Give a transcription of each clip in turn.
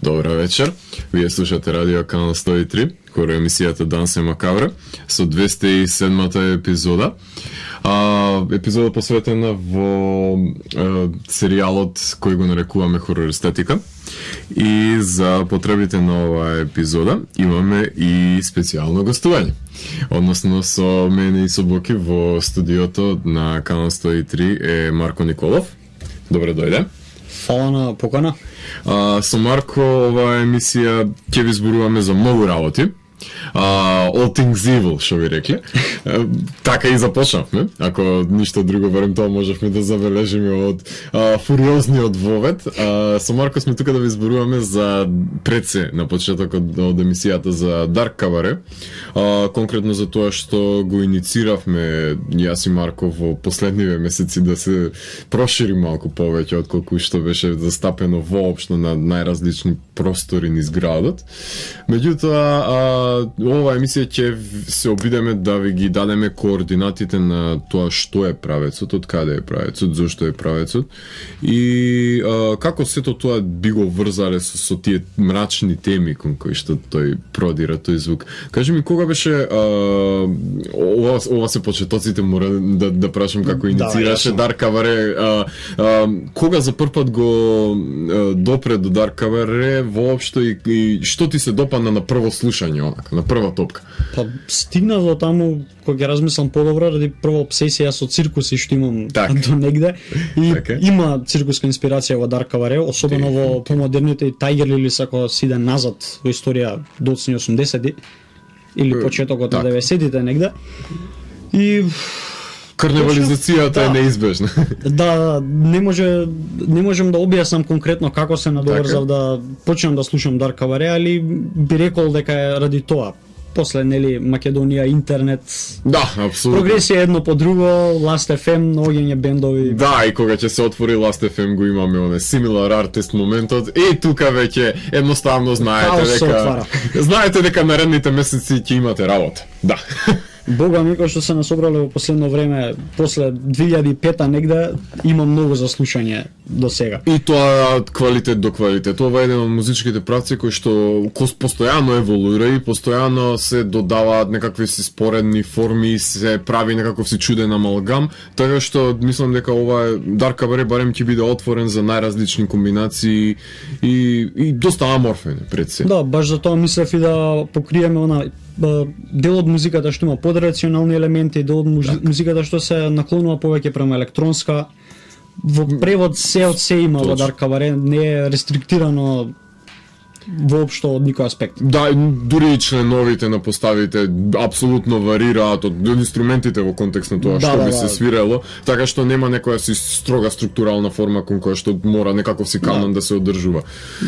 Добра вечер. Вие слушате Радио Канал 103, хорор емисијата Данс е Макабра, со 207-та епизода. Епизода посветена во серијалот кој го нарекуваме хорор естетика. И за потребите на оваа епизода имаме и специјално гостување. Односно со мене и со Боки во студиото на Канал 103 е Марко Николов. Добре дојде. Фала на покана. Со Марко оваа емисија ќе ви зборуваме за многу работи. All things evil, што ви рекле. Така и започнавме. Ако ништо друго, верам тоа можевме да забележиме од фуриозниот вовет. Со Марко сме тука да ви зборуваме за предсе на почетокот од емисијата за Dark Cabaret. Конкретно за тоа што го иницииравме јас и Марко во последниве месеци да се прошири малку повеќе отколку што беше застапено воопшто на најразлични простори низ градот. Меѓутоа, оваа емисија ќе се обидеме да ви ги дадеме координатите на тоа што е правецот, од каде е правецот, зошто е правецот и како сето тоа би го врзале со тие мрачни теми кон кои што тој продира тој звук. Кажи ми, кога беше ова се почетоците мора да прашам како инициираше Dark Cabaret, кога за прв пат го допре до Dark Cabaret воопшто и што ти се допадна на прво слушање, онака, на прва топка? Па стигна до таму кога ќе размислам подобро, ради прва обсесија со циркуси што имам до негде и има циркуска инспирација во Dark Cabaret, особено во помодерните Tiger Lilies, ако си иде назад во историја до 80-ти или почетокот на 90-тите негде. И карневализацијата е неизбежна. Да, не можем да објаснам конкретно како се надоврзав да почнам да слушам Dark Cabaret, али би рекол дека е ради тоа. После, нели, Македонија, интернет. Да, апсолутно. Прогресија едно по друго, Last FM, наоѓање бендови. Да, и кога ќе се отвори Last FM го имаме оне similar artist моментот. И тука веќе едноставно знаете дека наредните месеци ќе имате работа. Да. Бога ми, кој што се насобрале во последно време, после 2005 негде, има многу за слушање до сега. И тоа квалитет до квалитет. Ова е еден од музичките правци кои што постојано еволуира и постојано се додаваат некакви си споредни форми, се прави некаков си чуден амалгам, така што мислам дека ова Dark Cabaret барем ќе биде отворен за најразлични комбинации и доста аморфен пред се. Да, баш за тоа мислев и да покриеме она дел од музиката што има подрационални елементи, дел од музиката што се наклонува повеќе према електронска. Во превод се од се има во Dark Cabaret, не е рестриктирано воопшто од никој аспект. Да, дури и членовите на поставите апсолутно варираат од инструментите во контекст на тоа што би се свирело, така што нема некоја си строга структурална форма кон која што мора некаков си канон да се одржува.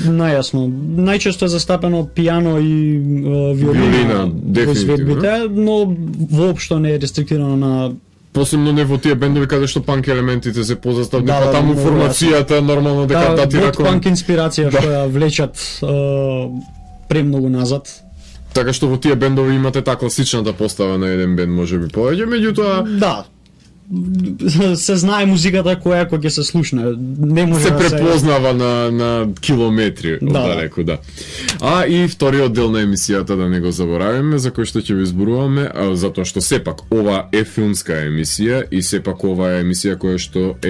Најасно. Најчесто е застапено пијано и виолина во изведбите, но воопшто не е рестриктирано на посебно не во тие бендови каде што панк елементите се позастав, дека таму формацијата нормално дека датира кон панк инспирација што ја влечат премногу назад. Така што во тие бендови имате таа класичната постава на еден бенд можеби повеќе, меѓутоа да, се знае музиката која ќе се слушне, не може се препознава на километри оддалеку, да. И вториот дел на емисијата, да не го забораваме, за кој што ќе ви зборуваме, затоа што сепак ова е филмска емисија и сепак ова е емисија која што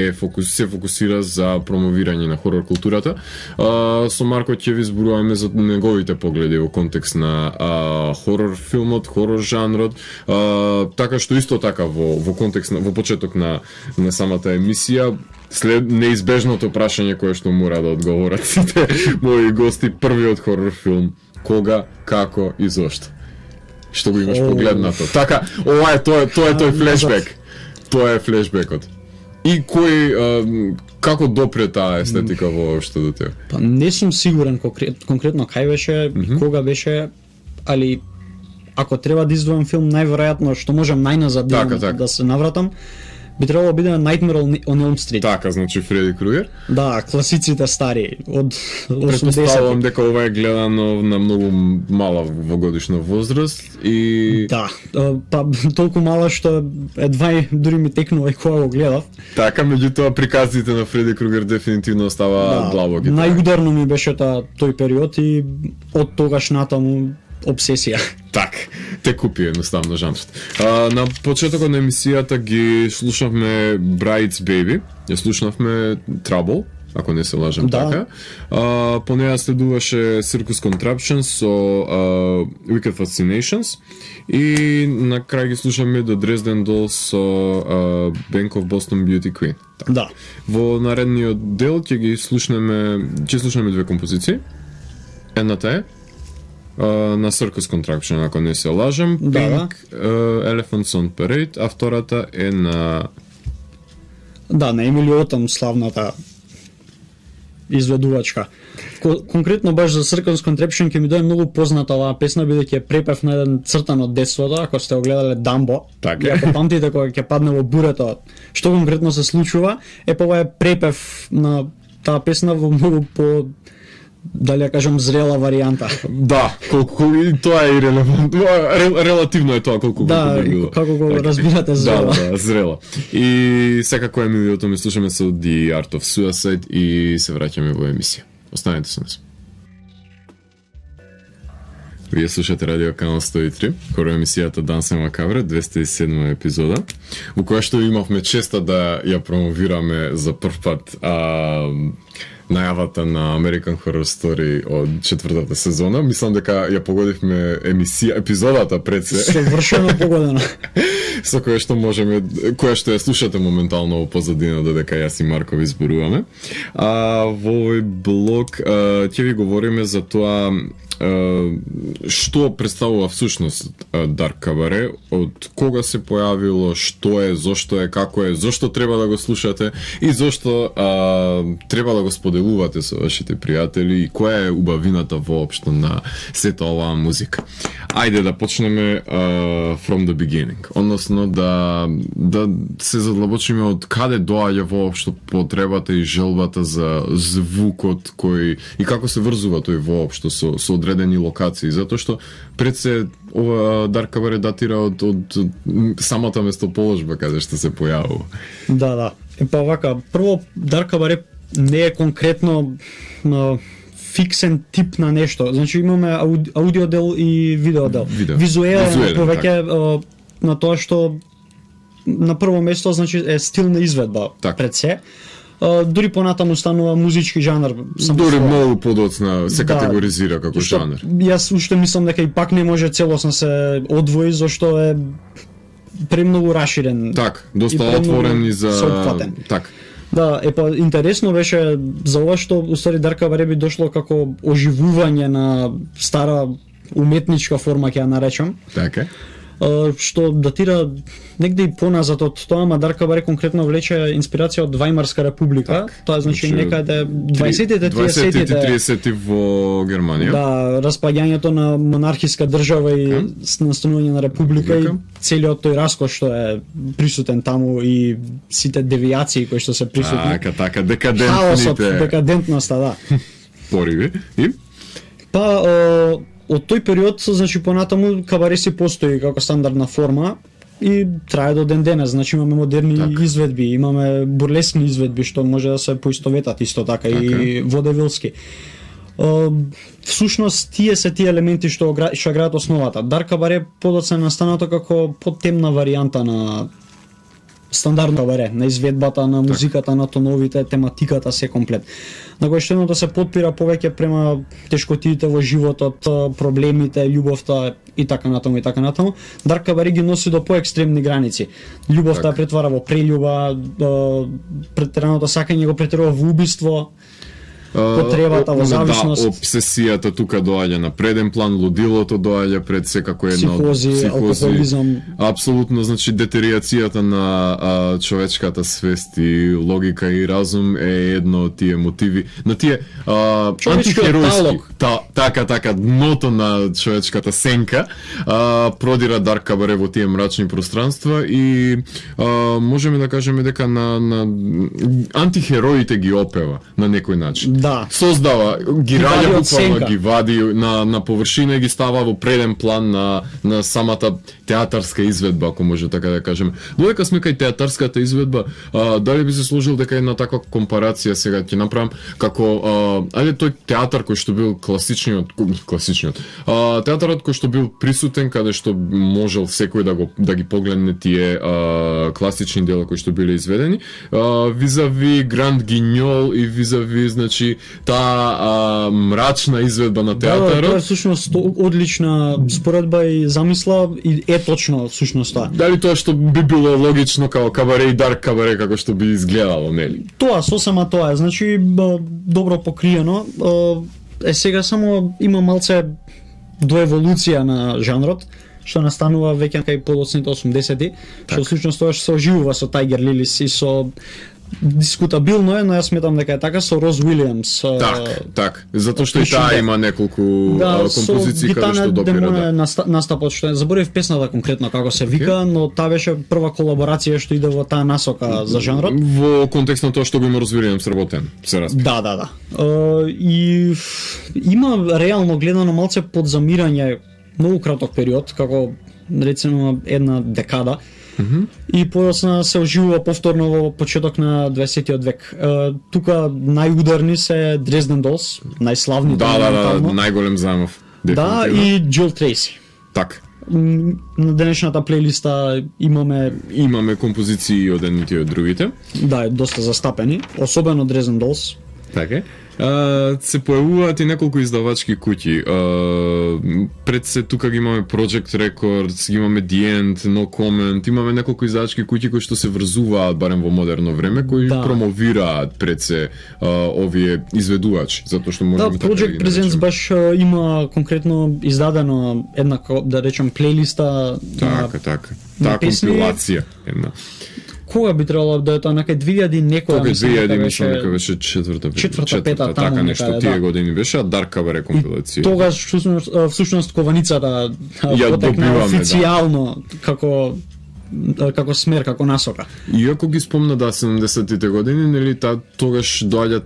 се фокусира за промовирање на хорор културата. Со Марко ќе ви зборуваме за неговите погледи во контекст на хорор филмот, хорор жанрот, така што исто така во контекст во почеток на самата емисија, след неизбежното прашање кое што мора да одговорат сите мои гости, првиот хорор филм, кога, како и зошто? Што го имаш погледнато? Така, ова е тоа е тој флешбек. Тоа е флешбекот. И како допре таа естетика воопшто до тебе? Па не сум сигурен конкретно кај беше и кога беше, али ако треба да издвојам филм, најверојатно што можам најназад да се навратам, би требало да биде Nightmare on Elm Street. Така, значи Фреди Кругер. Да, класиците стари од 80-ти. Претпоставувам дека ова е гледано на многу мала во годишна возраст и да, па толку мала што едва дури ми текнува и кога го гледав. Така, меѓутоа приказите на Фреди Кругер дефинитивно остава длабоки. Најударно ми беше тој период и од тогаш натаму обсесија. Так, те купи едноставно жанрот. На почетокот на емисијата ги слушавме Bride's Baby, ја слушнавме Trouble, ако не се лажам така. По неја следуваше Circus Contraption со Wicked Fascinations и на крај ги слушаме The Dresden Dolls со Bank of Boston Beauty Queen. Так. Да. Во наредниот дел ќе слушнеме две композиции. Едната е на Circus Contraption, ако не се лажам, Pink Elephants on Parade, а втората е на на Емили Отам, славната изведувачка. Конкретно баш за Circus Contraption ќе ми дојде многу позната оваа песна, бидејќи е препев на еден цртан од детството, ако сте го гледале Дамбо. Така. Ако памтите кога ќе падне во бурето, што конкретно се случува, ова е препев на таа песна во многу по дали ја кажам зрела варијанта. Да, колку и тоа е ирелевантно. Релативно е тоа колку да, било. Како го разбирате зрела. Да, зрела. И секако емилиото ми слушаме со The Art of Suicide и се враќаме во емисија. Останете со нас. Вие слушате Радио Канал 103, хоро емисијата Данс е Макабре, 207 епизода, во која што имавме честа да ја промовираме за прв пат најавата на American Horror Story од 4-та сезона. Мислам дека ја погодивме епизодата пред се. Совршено погодено. Со која што ја слушате моментално во позадина, додека јас и Марко ви зборуваме. Во овој блог ќе ви говориме за тоа што представува всушност Dark Cabaret, од кога се појавило, што е, зошто е, како е, зошто треба да го слушате и зошто треба да го споделувате со вашите пријатели и која е убавината воопшто на сета оваа музика. Ајде да почнеме from the beginning, односно да се задлабочиме од каде доаѓа воопшто потребата и желбата за звукот кој и како се врзува тој воопшто со одредени локации, затоа што пред се ова Dark Cabaret датира од самата местоположба каде што се појавува. Да. Па вака, прво Dark Cabaret не е конкретно фиксен тип на нешто. Значи имаме аудио дел и видео дел. Визуелен повеќе на тоа што на прво место значи е стилна изведба пред се. Дури понатаму станува музички жанр. Дури многу подоцна се категоризира како жанр. Јас уште мислам дека и пак не може целосно се одвои, зашто е премногу раширен. Так, доста отворен и за соопфатен. Так. Да, интересно беше за ова што уствари Dark Cabaret би дошло како оживување на стара уметничка форма, ќе ја наречам. Така. Што датира негде и поназад од тоа, ама Dark Cabaret конкретно влече инспирација од Вајмарска република. Тоа значи некаде 20-тите, 30-ти во Германија. Да, распаѓањето на монархиска држава и настанување на република и целиот тој раскош што е присутен таму и сите девијации кои што се присутни. Така, декадентните. Декадентноста, да. Пориви и од тој период, значи понатаму кабаре си постои како стандардна форма и трае до ден денес. Значи имаме модерни изведби, имаме бурлескни изведби што може да се поистоветат исто така и водевилски. Всушност тие се тие елементи што граат основата. Dark Cabaret подоцна настанато како потемна варијанта на стандардно кабаре, на изведбата, на музиката, на тоновите, тематиката, се комплет. На кој што едното се подпира повеќе према тешкотиите во животот, проблемите, љубовта и така натаму и така натаму. Dark Cabaret ги носи до поекстремни граници. Љубовта претвара во прељуба, претераното сакање го претерува во убиство. потребата во зависност. Да, обсесијата тука доаѓа на преден план, лудилото доаѓа пред секако една психози, алкохолизам. Апсолутно, значи детериацијата на човечката свест и логика и разум е едно од тие мотиви, на тие антихеројски. Така, дното на човечката сенка продира Дарк Кабаре во тие мрачни пространства и можеме да кажеме дека на антихероите ги опева на некој начин. Да. Создава, ги раѓа буквално, ги вади на површина и ги става во преден план на самата театарска изведба, ако може така да кажеме. Додека сме кај театарската изведба, дали би се сложил дека една таква компарација сега ќе направам како ајде тој театар кој што бил класичниот театарот кој што бил присутен, каде што можел секој да ги погледне тие класични дела кои што биле изведени, визави Гранд Гиньол и визави, значи, таа мрачна изведба на театарот. Да, тоа е всушност одлична споредба и замисла и е точно всушност тоа. Дали тоа што би било логично како Кабаре и Дарк Кабаре како што би изгледало, нели? Тоа, сосема тоа е, значи добро покриено. Сега само има малце до еволуција на жанрот, што настанува веќе кај подоцните 80-ти, што всушност тоа што се оживува со Тайгер Лилис и со дискутабилно е, но јас сметам дека е така со Роз Уилијамс. Так, затоа што и таа има неколку композиции каде што допира. Настапот што заборев песната конкретно како се вика, но таа беше прва колаборација што иде во таа насока за жанрот. Во контекст на тоа што го има Роз Уилијамс сработен, се разбира. Да. И има реално гледано малце подзамирање многу краток период, како речено една декада. И подоцна се оживува повторно во почеток на 20-тиот век. Тука најударни се Дрезден Долс, најславните. Да, најголем замов. Да, и Джил Трейси. Так. На денешната плейлиста имаме композиции од едните и од другите. Да, доста застапени, особено Дрезден Долс. Така. Се појавуваат и неколку издавачки куќи. Пред се тука ги имаме Project Records, ги имаме The End, No Comment, имаме неколку издавачки куќи кои што се врзуваат барем во модерно време, кои промовираат пред се овие изведувачи, затоа што можеме така да ги наречеме. Project Presents баш има конкретно издадено една, да речем, плейлиста. Така. Таа компилација една. Кога би требало да е тоа некај 2000 некоја, мислам дека беше четврта, пета, така нешто тие години беше, а Дарк Кабаре компилација. Тогаш всушност кованицата потекна официјално како смер, како насока. Иако ги спомна 70-тите години, нели тогаш доаѓа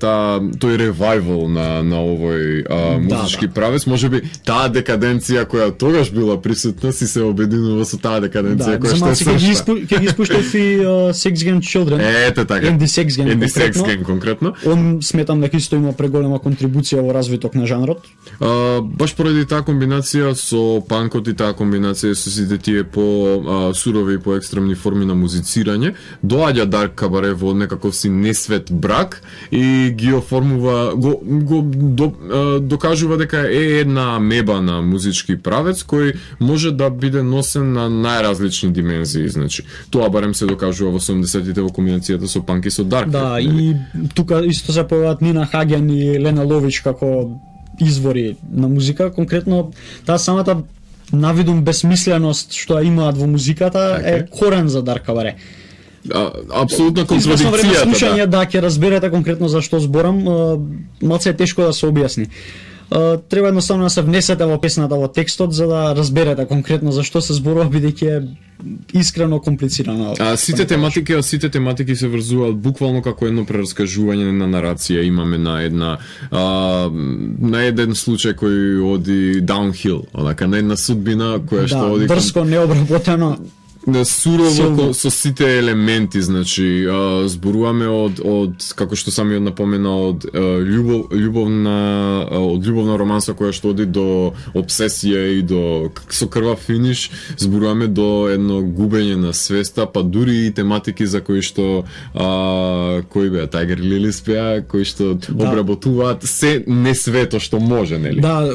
тој ревајвал на овој музички правец, можеби таа декаденција која тогаш била присутна си се обединува со таа декаденција која што е свршта. Ќе ги спуштав и Sex Game Children. Ете така. Andy Sex Game конкретно. Он сметам дека исто има преголема контрибуција во развиток на жанрот. Баш поради таа комбинација со панкот и таа комбинација со сите тие по сурови и екстремни форми на музицирање, доаѓа Дарк Кабаре во некаков си несвет брак и ги оформува, докажува дека е една амеба на музички правец кој може да биде носен на најразлични димензии, значи. Тоа барем се докажува во 70-тите во комбинацијата со панк и со дарк. Да, и тука исто се појаваат Нина Хаген и Лена Лович како извори на музика, конкретно таа самата навидум безсмисленост што имаат во музиката е корен за Дарк Кабаре. Апсолутно контрадикцијата. Слушање да ќе разберете конкретно за што зборам, малце е тешко да се објасни. Треба едноставно да се внесете во песната, во текстот, за да разберете конкретно за што се зборува, бидејќи е искрено комплицирано. Сите тематики се врзуваат буквално како едно прераскажување на нарација. Имаме на еден случај кој оди downhill, онака на една судбина која што оди дрско, необработено. Сурово со сите елементи, значи зборуваме од како што самиот напомена од љубовна романса која што оди до обсесија и до со крвав финиш, зборуваме до едно губење на свеста, па дури и тематики за кои што кои беа Тайгер Лилис пеа, кои што обработуваат се несвето што може, нели? Да,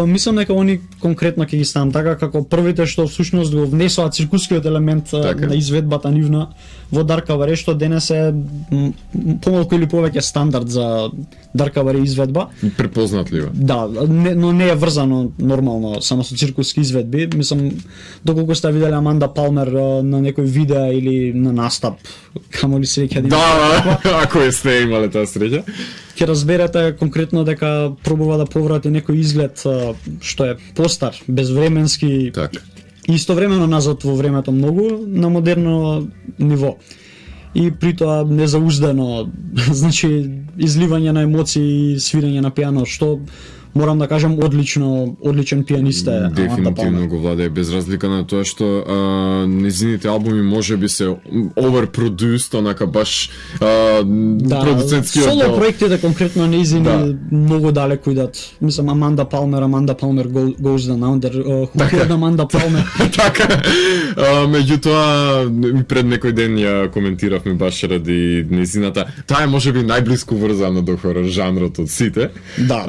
мислам дека они конкретно ќе ги ставам така како првите што всушност го внесоа циркускиот елемент на изведбата нивна во Dark Cabaret, што денес е помалку или повеќе стандард за Dark Cabaret изведба. Препознатлива. Да, но не е врзано нормално само со циркуски изведби. Мислам, доколку сте виделе Аманда Палмер на некој видео или на настап, камо ли среќа да, ако сте имале таа среќа, ќе разберете конкретно дека пробува да поврати некој изглед што е постар, безвременски, и истовремено назад во времето многу на модерно ниво. И при тоа незауздано, значи изливање на емоции, свирење на пијано, што морам да кажам одличен пианист е. Дефинитивно го владее, без разлика на тоа што незините албуми можеби се overproduced, онака баш продуцентскиот соло проектите конкретно незини многу далеку идат. Мислам Аманда Палмер goes down under, хукиот Аманда Палмер. Така. Меѓутоа пред некој ден ја коментиравме баш ради незината. Таа е можеби најблиску врзана до хорор жанрот од сите. Да,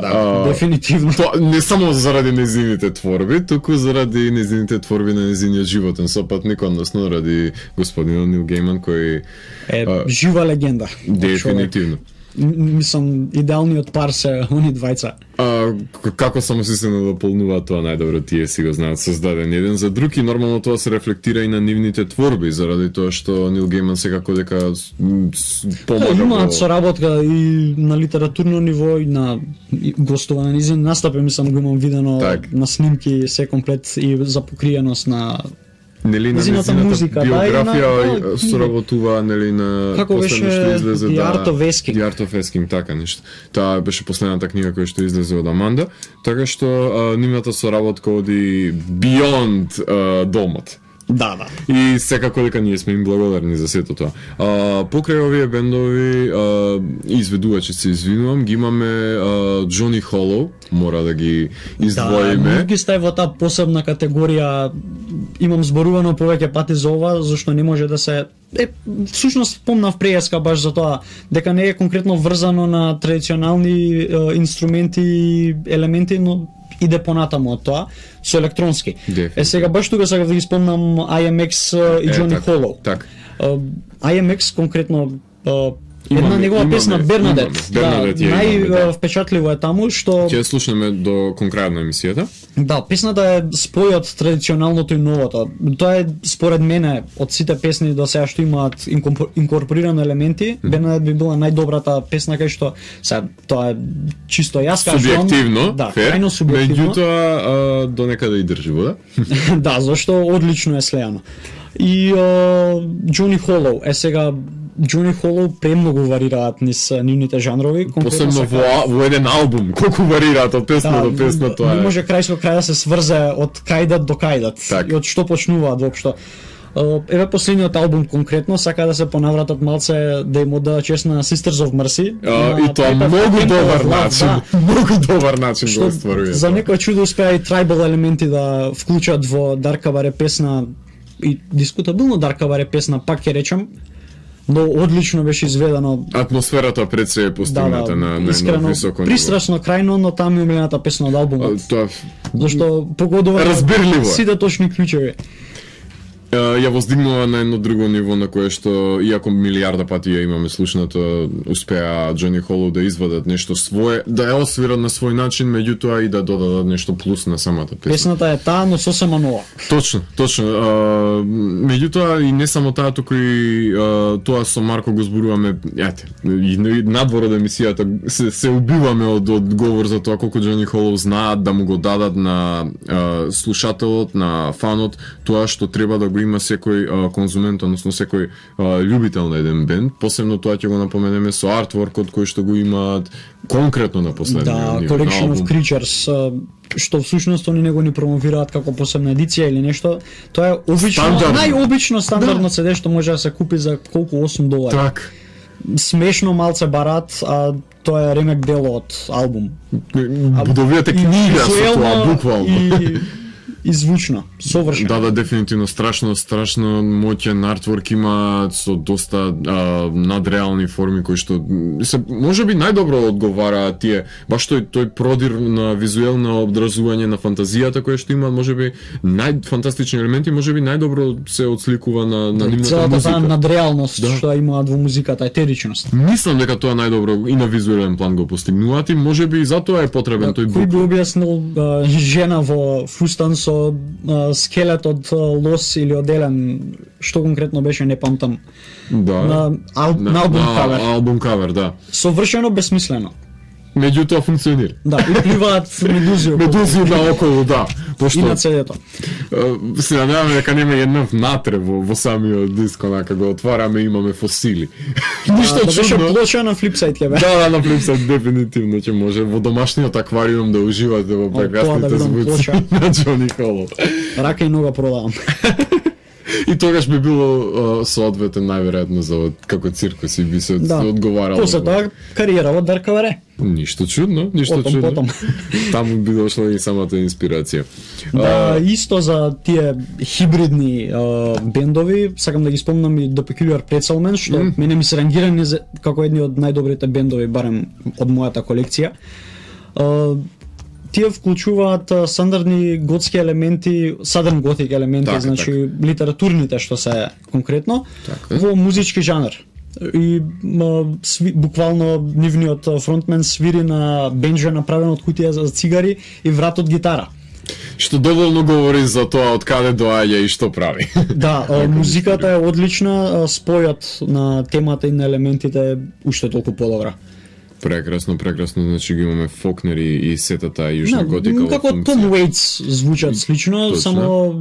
дефинитивно. Не само заради незините творби, туку заради незините творби на незиниот животен сопатник, односно ради господинот Нил Гейман, кој е жива легенда. Дефинитивно. Мислам, идеалниот пар се они двајца. Како само си се надополнуваат тоа најдобро, тие си го знаат, создаден еден за друг, и нормално тоа се рефлектира и на нивните творби, заради тоа што Нил Гейман секако дека помага. Имаат соработка и на литературно ниво и на гостува на низин настапи, мислам го имам видено на снимки, се комплет и за покриеност на незината музика, биографија соработува, нели, на како беше The Art of Asking. The Art of Asking, така нешто. Таа беше последната книга која што излезе од Аманда, така што нивната соработка оди beyond домот. Да. И секако дека ние сме им благодарни за сето тоа. Покрај овие бендови изведувачи, се извинувам, ги имаме Джони Холоу, мора да ги издвоиме. Да, ги стави во таа посебна категорија. Имам зборувано повеќе пати за ова, зашто не може да се всушност помнав преска баш за тоа, дека не е конкретно врзано на традиционални инструменти и елементи, но иде понатаму од тоа со електронски. Сега баш тука сакав да ги спомнам IMX и Джони Холоу. IMX конкретно една негова песна Бернадет. Највпечатливо е таму што ќе слушнеме до конкрајот на емисијата. Да, песната е спој од традиционалното и новото. Тоа е според мене од сите песни до сега што имаат инкорпорирани елементи, Бернадет би била најдобрата песна кај што сега тоа е чисто јас кажам. Субјективно, да, крајно субјективно. Меѓутоа до некаде и држиво, да? Да, зашто одлично е слеано. И Джони Холоу сега Джони Холоу премногу варираат низ нивните жанрови, посебно во еден албум, колку варираат од песна до песна, тоа е. Не може крај со крај да се сврзе од кајдат до кајдат и од што почнуваат воопшто. Еве последниот албум конкретно сака да се понавратат малце да им оддадат чест на Sisters of Mercy. И тоа многу добар начин, многу добар начин го остварува. За некој чудо успеа и трибал елементи да вклучат во Dark Cabaret песна, и дискутабилно Dark Cabaret песна, пак ќе речам, но одлично беше изведено. Атмосферата пред се е постигната на високо ниво. Пристрасно крајно, но таму е милената песна од албумот. Тоа зашто погодува разбирливо сите точни клучеви. Ја воздигнува на едно друго ниво на кое што, иако милиарда пати ја имаме слушнато, успеа Джони Холоу да извадат нешто свое, да ја освират на свој начин, меѓутоа и да додадат нешто плюс на самата песна. Песната е таа, но сосема нова. Точно. Меѓутоа и не само таа, туку и тоа со Марко го зборуваме, и надвор од емисијата се убиваме од говор за тоа колку Джони Холоу знаат да му го дадат на слушателот, на фанот, тоа што треба да го има секој конзумент, односно секој љубител на еден бенд. Посебно тоа ќе го напоменеме со артворкот кој што го имаат конкретно на последниот ниво. Да, Collection of Creatures, што всушност они не го ни промовираат како посебна едиција или нешто. Тоа е обично, најобично стандардно CD што може да се купи за колку $8. Так. Смешно малце барат, а тоа е ремек дел од албум. Добивате книга со тоа, буквално. и звучно, совршено. Да, дефинитивно страшно моќен артворк има со доста надреални форми кои што се можеби најдобро одговара тие баш тој продир на визуелно образување на фантазијата која што има, можеби најфантастични елементи, можеби најдобро се отсликува на нивната музика. Целата надреалност што имаат во музиката, етеричност. Мислам дека тоа најдобро и на визуелен план го постигнуваат и можеби и затоа е потребен тој бук. Кој би објаснил жена во фустан со скелет од лос или од елен, што конкретно беше, не памтам. Да. На албум кавер. Албум кавер, да. Совршено бесмислено. Меѓутоа функционира. Да, и пливаат медузи наоколу, да. Пошто и на CD-то. Се надеваме дека нема една внатре во самиот диск, онака го отвараме и имаме фосили. Ништо чудно. Беше плоча на флипсайт ќе бе. Да, на флипсайт дефинитивно ќе може во домашниот аквариум да уживате во прекрасните звуци на Џони Холо. Рака и нога продавам. И тогаш би било соодветен најверојатно за како циркус и би се одговарало. После тоа кариера во Дарк Каваре. Ништо чудно. Потом. Таму би дошла и самата инспирација. Да, исто за тие хибридни бендови, сакам да ги спомнам и The Peculiar Pretzel Man, што мене ми се рангирани како едни од најдобрите бендови, барем од мојата колекција. Тие вклучуваат стандардни готски елементи, Southern Gothic елементи, значи литературните што се конкретно, во музички жанр. И буквално нивниот фронтмен свири на бенџа направен од кутија за цигари и врат од гитара. Што доволно говори за тоа од каде доаѓа и што прави. Да, музиката е одлична, спојот на темата и на елементите уште толку подобра. Прекрасно, значи ги имаме Фокнер и сетата јужна готика. Како Том Уейтс звучат слично, само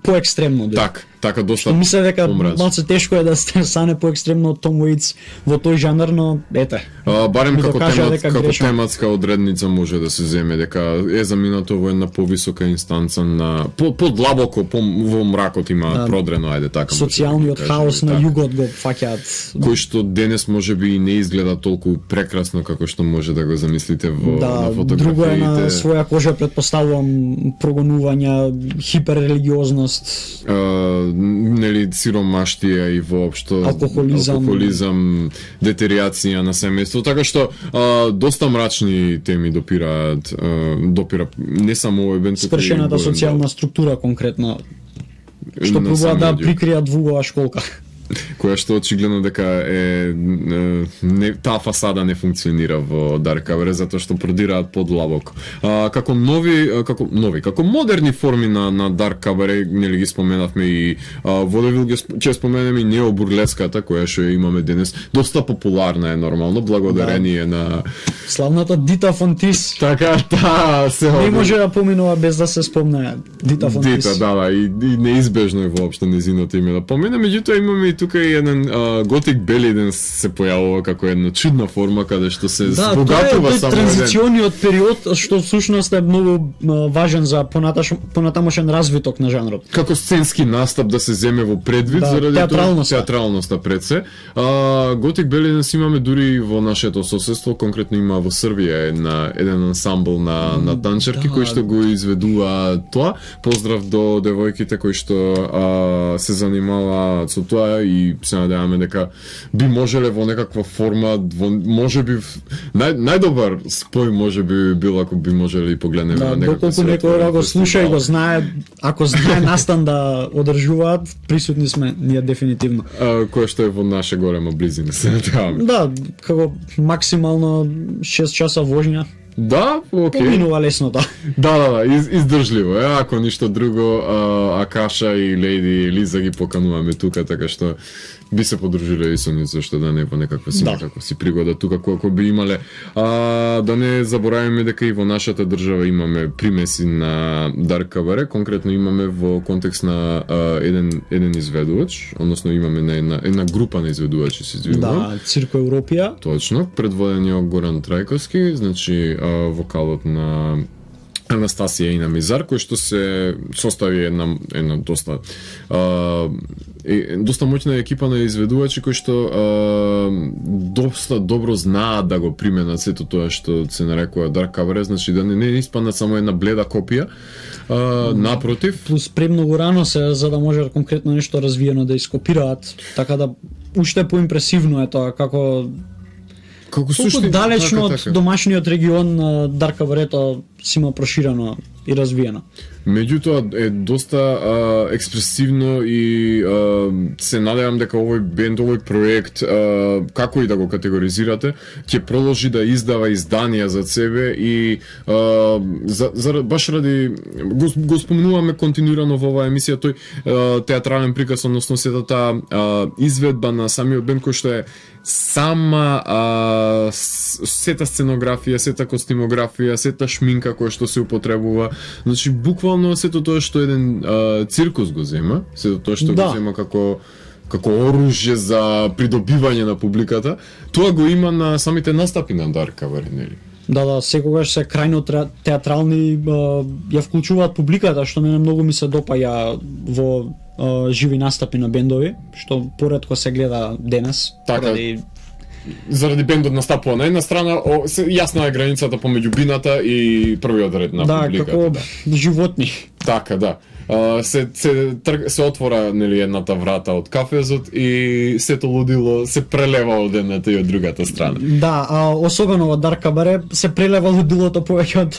поекстремно. Така доста. Што мисля дека малце тешко е да стане поекстремно од Том Уейтс во тој жанр, но ете. Барем како тематска одредница може да се земе дека е заминато во една повисока инстанца на подлабоко во мракот има продрено, ајде така. Социјалниот хаос на југот го фаќаат. Кој што денес можеби и не изгледа толку прекрасно како што може да го замислите на фотографиите. Друго е на своја кожа, предпоставувам, прогонувања, хиперрелигиозност, нели сиромаштија и воопшто алкохолизам, детеријација на семејство, така што доста мрачни теми допира не само овој бенд, спршената социјална структура конкретно, што пробува да прикријат во школка. Која што очигледно дека таа фасада не функционира во Дарк Каваре затоа што продираат подлабоко. Како модерни форми на Дарк Каваре, нели ги споменавме и водевил, ќе споменеме и необурлеската која што имаме денес, доста популарна е нормално благодарение на славната Дита фон Тис. Така, се не може да поминува без да се спомне Дита фон Тис. Дита, и неизбежно е воопшто незиното име да помине, меѓутоа имаме и тука и еден Готик Белиден се појавува како една чудна форма каде што се збогатува само транзициониот период што всушност е многу важен за понатамошен развиток на жанрот. Како сценски настап да се земе во предвид заради театралноста пред се. Готик Белиден имаме дури во нашето соседство, конкретно има во Србија еден ансамбл на танчерки кои што го изведува тоа. Поздрав до девојките кои што се занимаваат со тоа и се надеваме дека би можеле во некаква форма, можеби најдобар спој можеби бил ако би можеле и погледнеме на некаква доколку некој го слуша и го знае, ако знае настан да одржуваат, присутни сме ние дефинитивно. Кој што е во наша голема близина, се надеваме. Да, како максимално 6 часа вожња. Да, окей. Поминува лесно тоа. Да, издржливо е, ако ништо друго, Акаша и Лејди Лиза ги покануваме тука, така што би се подружиле и со нив, зашто да не во некаква си пригода тука колку би имале. Да не забораваме дека и во нашата држава имаме примеси на Дарк Каваре, конкретно имаме во контекст на еден изведувач, односно имаме на една група на изведувачи, се извинувам. Да, Цирко Европија. Точно, предводени од Горан Трајковски, значи вокалот на Анастасија и на Мизар, кој што се состави една доста моќна екипа на изведувачи кои што доста добро знаат да го применат сето тоа што се нарекува Dark Cabaret, значи да не испаднат само една бледа копија, напротив. Плюс премногу рано се, за да може конкретно нешто развиено да ископираат, така да уште поимпресивно е тоа, како далечно од домашниот регион на Dark Cabaret си има проширено и развиено. Меѓутоа е доста експресивно и се надевам дека овој бенд, овој проект, како и да го категоризирате, ќе продолжи да издава изданија за себе и баш ради го спомнуваме континуирано во оваа емисија тој театрален приказ, односно сета таа изведба на самиот бенд кој што е сета сценографија, сета костимографија, сета шминка која што се употребува. Значи буквално сето тоа што еден циркус го зема, сето тоа што го зема како оружје за придобивање на публиката, тоа го има на самите настапи на Dark Cabaret, нели? Да, секогаш се крајно театрални ја вклучуваат публиката, што мене многу ми се допаѓа во живи настапи на бендови, што поретко се гледа денес. Така, заради бендот настапува на една страна, јасна е границата помеѓу бината и првиот ред на публиката. Како животни. Така, да. Се отвора, нели, едната врата од кафезот и сето лудило се прелева од едната и од другата страна. Да, особено во Dark Cabaret се прелева лудилото повеќе од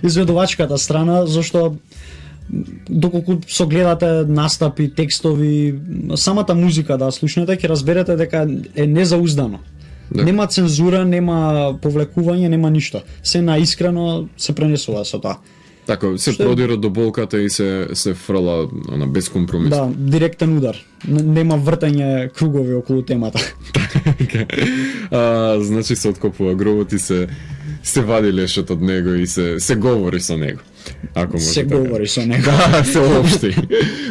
изведувачката страна, зашто доколку согледате настапи, текстови, самата музика да слушнете, ќе разберете дека е незауздано. Да. Нема цензура, нема повлекување, нема ништо. Се наискрено се пренесува со тоа. Така, се продира до болката и се фрла без компромис. Да, директен удар. Нема вртање кругови околу темата. Значи се откопува гробот и се вади лешот од него и се говори со него. Ако може се говори со него. Да, се обшти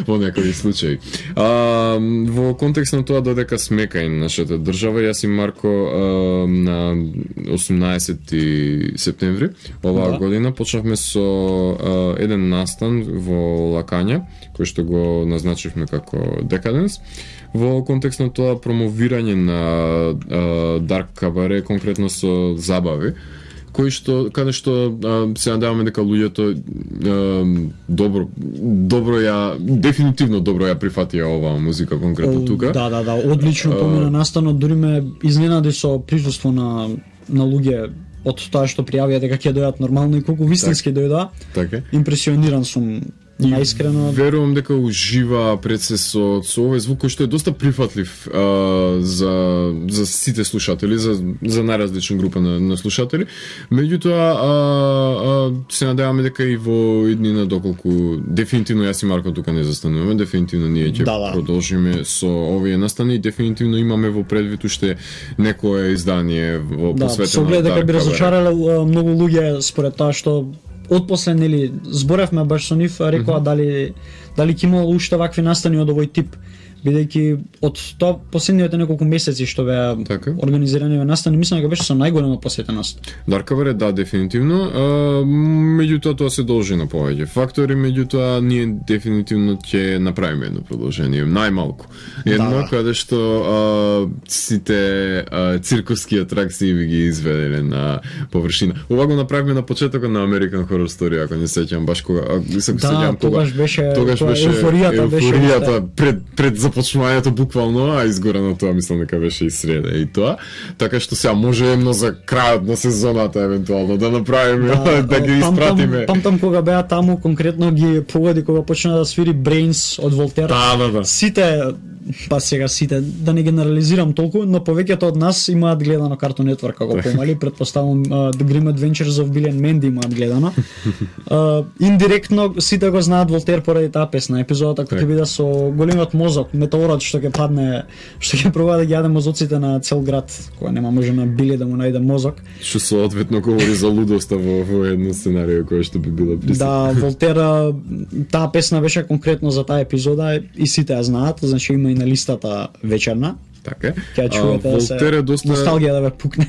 во некои случаи. Во контекст на тоа додека смека и нашата држава, јас и Марко на 18 септември оваа година почнавме со еден настан во Лакања, кој што го назначивме како Decadence, во контекст на тоа промовирање на Dark Cabaret, конкретно со забави, каде што се надеваме дека луѓето дефинитивно добро ја прифатија оваа музика конкретно тука. Да, одлично помина настанот, дури ме изненади со присуство на луѓе од тоа што пријавија дека ќе дојдат нормално и колку вистински дојдоа. Така. Импресиониран сум. Наискрено. Верувам дека ужива пред се со овој звук кој што е доста прифатлив за сите слушатели, за најразлични група на слушатели. Меѓутоа се надеваме дека и во иднина, доколку дефинитивно јас и Марко тука не застануваме, дефинитивно ние ќе продолжиме со овие настани и дефинитивно имаме во предвид уште некое издание во посветено на Dark Cabaret. Дека би разочарале многу луѓе според тоа што отпосле, нели, зборевме баш со нив, рекоа дали ќе имало уште вакви настани од овој тип, бидејќи од тоа последните неколку месеци што беа организирани настани, мислам дека беше со најголема посетеност. Dark Cabaret, да, дефинитивно, меѓутоа тоа се должи на повеќе фактори, меѓутоа ние дефинитивно ќе направиме едно продолжение, најмалку. Едно каде што сите циркуски атракции би ги изведеле на површина. Ова го направивме на почетокот на American Horror Story, ако не сеќам баш кога се сеќам кога тогаш беше еуфоријата пред започнувањето буквално, а изгорено тоа мислам дека беше и среда и тоа. Така што сега може едно за крајот на сезоната евентуално да направиме, да ги испратиме. Памтам кога беа таму, конкретно ги погоди кога почна да свири Brains од Волтер. Да. Сите да не генерализирам толку, но повеќето од нас имаат гледано Cartoon Network како помали, претпоставувам The Grim Adventures of Billy and Mandy имаат гледано. Индиректно сите го знаат Волтер поради таа песна. Епизодата кој ќе биде со големиот мозок, метеорот што ќе падне, што ќе пробува да ги јаде мозоците на цел град, кога нема може на Били да му најде мозок. Што соодветно говори за лудоста во едно сценарио кое што би било присутно. Да, Волтер, таа песна беше конкретно за таа епизода и сите ја знаат, значи има и на листата вечерна. Така. Ќе чуете да се носталгија да ве пукне.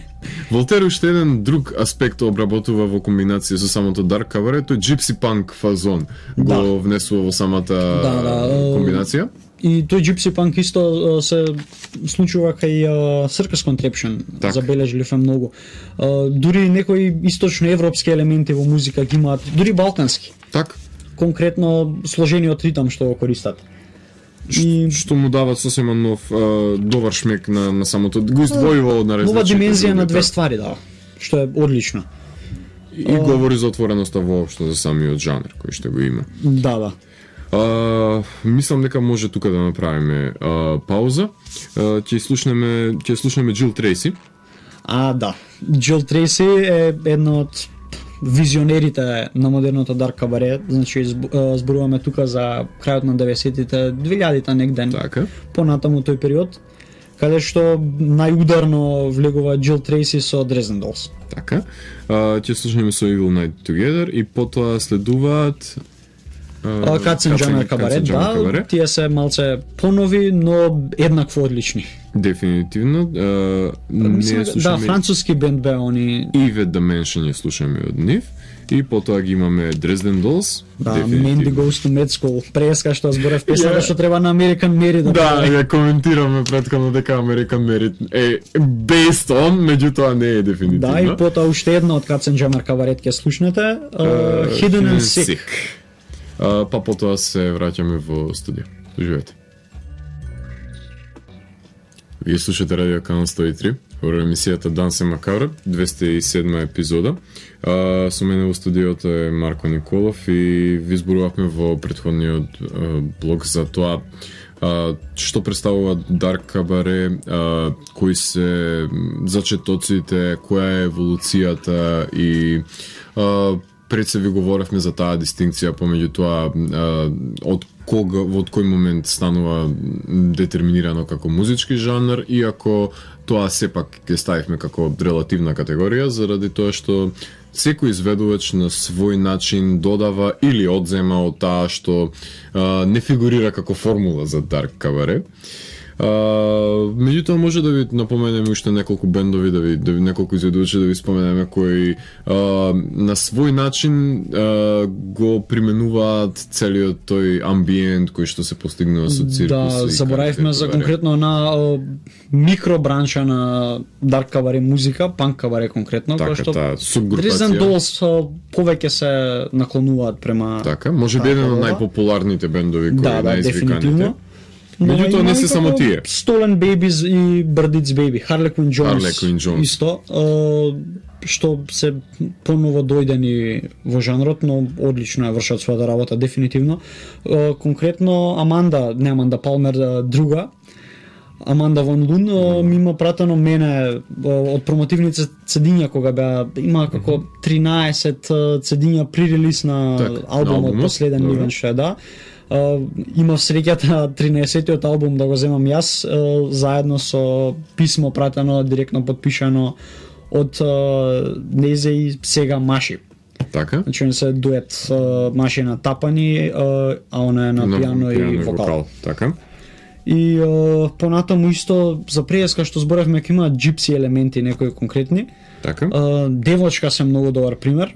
Волтер уште еден друг аспект обработува во комбинација со самото Dark Cabaret, тој gypsy punk фазон го внесува во самата комбинација. И тој gypsy punk исто се случува кај Circus Contraption, забележливе многу. Дури некои источноевропски елементи во музика ги имаат, дури балкански. Так. Конкретно сложениот ритам што го користат. Што му дават сосема нов добар шмек на самото, го издвојува од наредната. Нова димензија на две ствари дава, што е одлично. И говори за отвореноста воопшто за самиот жанр кој што го има. Да. Мислам дека може тука да направиме пауза. Ќе слушнеме Jill Tracy. Да. Jill Tracy е една од визионерите на модерното Dark Cabaret, значи зборуваме тука за крајот на 90-тите, 2000-та негден. Така. Понатаму тој период, каде што најударно влегува Jill Tracy со Dresden Dolls. Така. Ќе слушнеме со Evil Night Together и потоа следуваат Cats and Jammer Cabaret, тие се малце понови, но еднакво одлични. Дефинитивно. Да, француски бенд беа они. Evil Dimension ја слушаме од нив. И потоа ги имаме Dresden Dolls. Да, Mandy Goes to Med School. Преска што зборев песната што треба на American Mary да. Да, ја коментираме претходно дека American Mary е based on, меѓутоа не е дефинитивно. Да, и потоа уште едно од Cats and Jammer Cabaret ќе слушнете, Hidden and Sick. Па потоа се враќаме во студио. Живеете. Вие слушате Радио Канал 103, во емисијата Дансе Макабре, 207 епизода. Со мене во студиото е Марко Николов и ви зборувавме во претходниот блог за тоа што представува Dark Cabaret, кои се зачетоците, која е еволуцијата и пред се ви говоревме за таа дистинкција помеѓу тоа од кој момент станува детерминирано како музички жанр, иако тоа сепак ќе ставивме како релативна категорија, заради тоа што секој изведувач на свој начин додава или одзема од таа што не фигурира како формула за Dark Cabaret. Меѓутоа може да ви напоменеме уште неколку бендови, да ви неколку изведувачи да ви споменеме кои на свој начин го применуваат целиот тој амбиент кој што се постигнува со циркус. Да, заборавивме за конкретно на микробранша на Dark Cabaret музика, панк кабаре конкретно, кој што Dresden Dolls повеќе се наклонуваат према. Така, може би еден од најпопуларните бендови кои најизвиканите. Меѓутоа не се само тие. Stolen Babies и Birdie's Baby, Harlequin Jones. Исто, што се поново дојдени во жанрот, но одлично ја вршат својата работа дефинитивно. Конкретно Аманда Палмер друга, Аманда Ван Лун ми има пратено мене од промотивните цедиња кога беа има како 13 цедиња при релиз на албумот последен нивен што е, да. Имав среќата 13-тиот албум да го земам јас, заедно со писмо пратено, директно подпишано од незе и сега Маши. Така? Значи не се дует Маши на тапани, а она е на пијано и вокал. Така. И понатаму исто за преска што зборевме дека има джипси елементи некои конкретни. Така. Девочка се многу добар пример.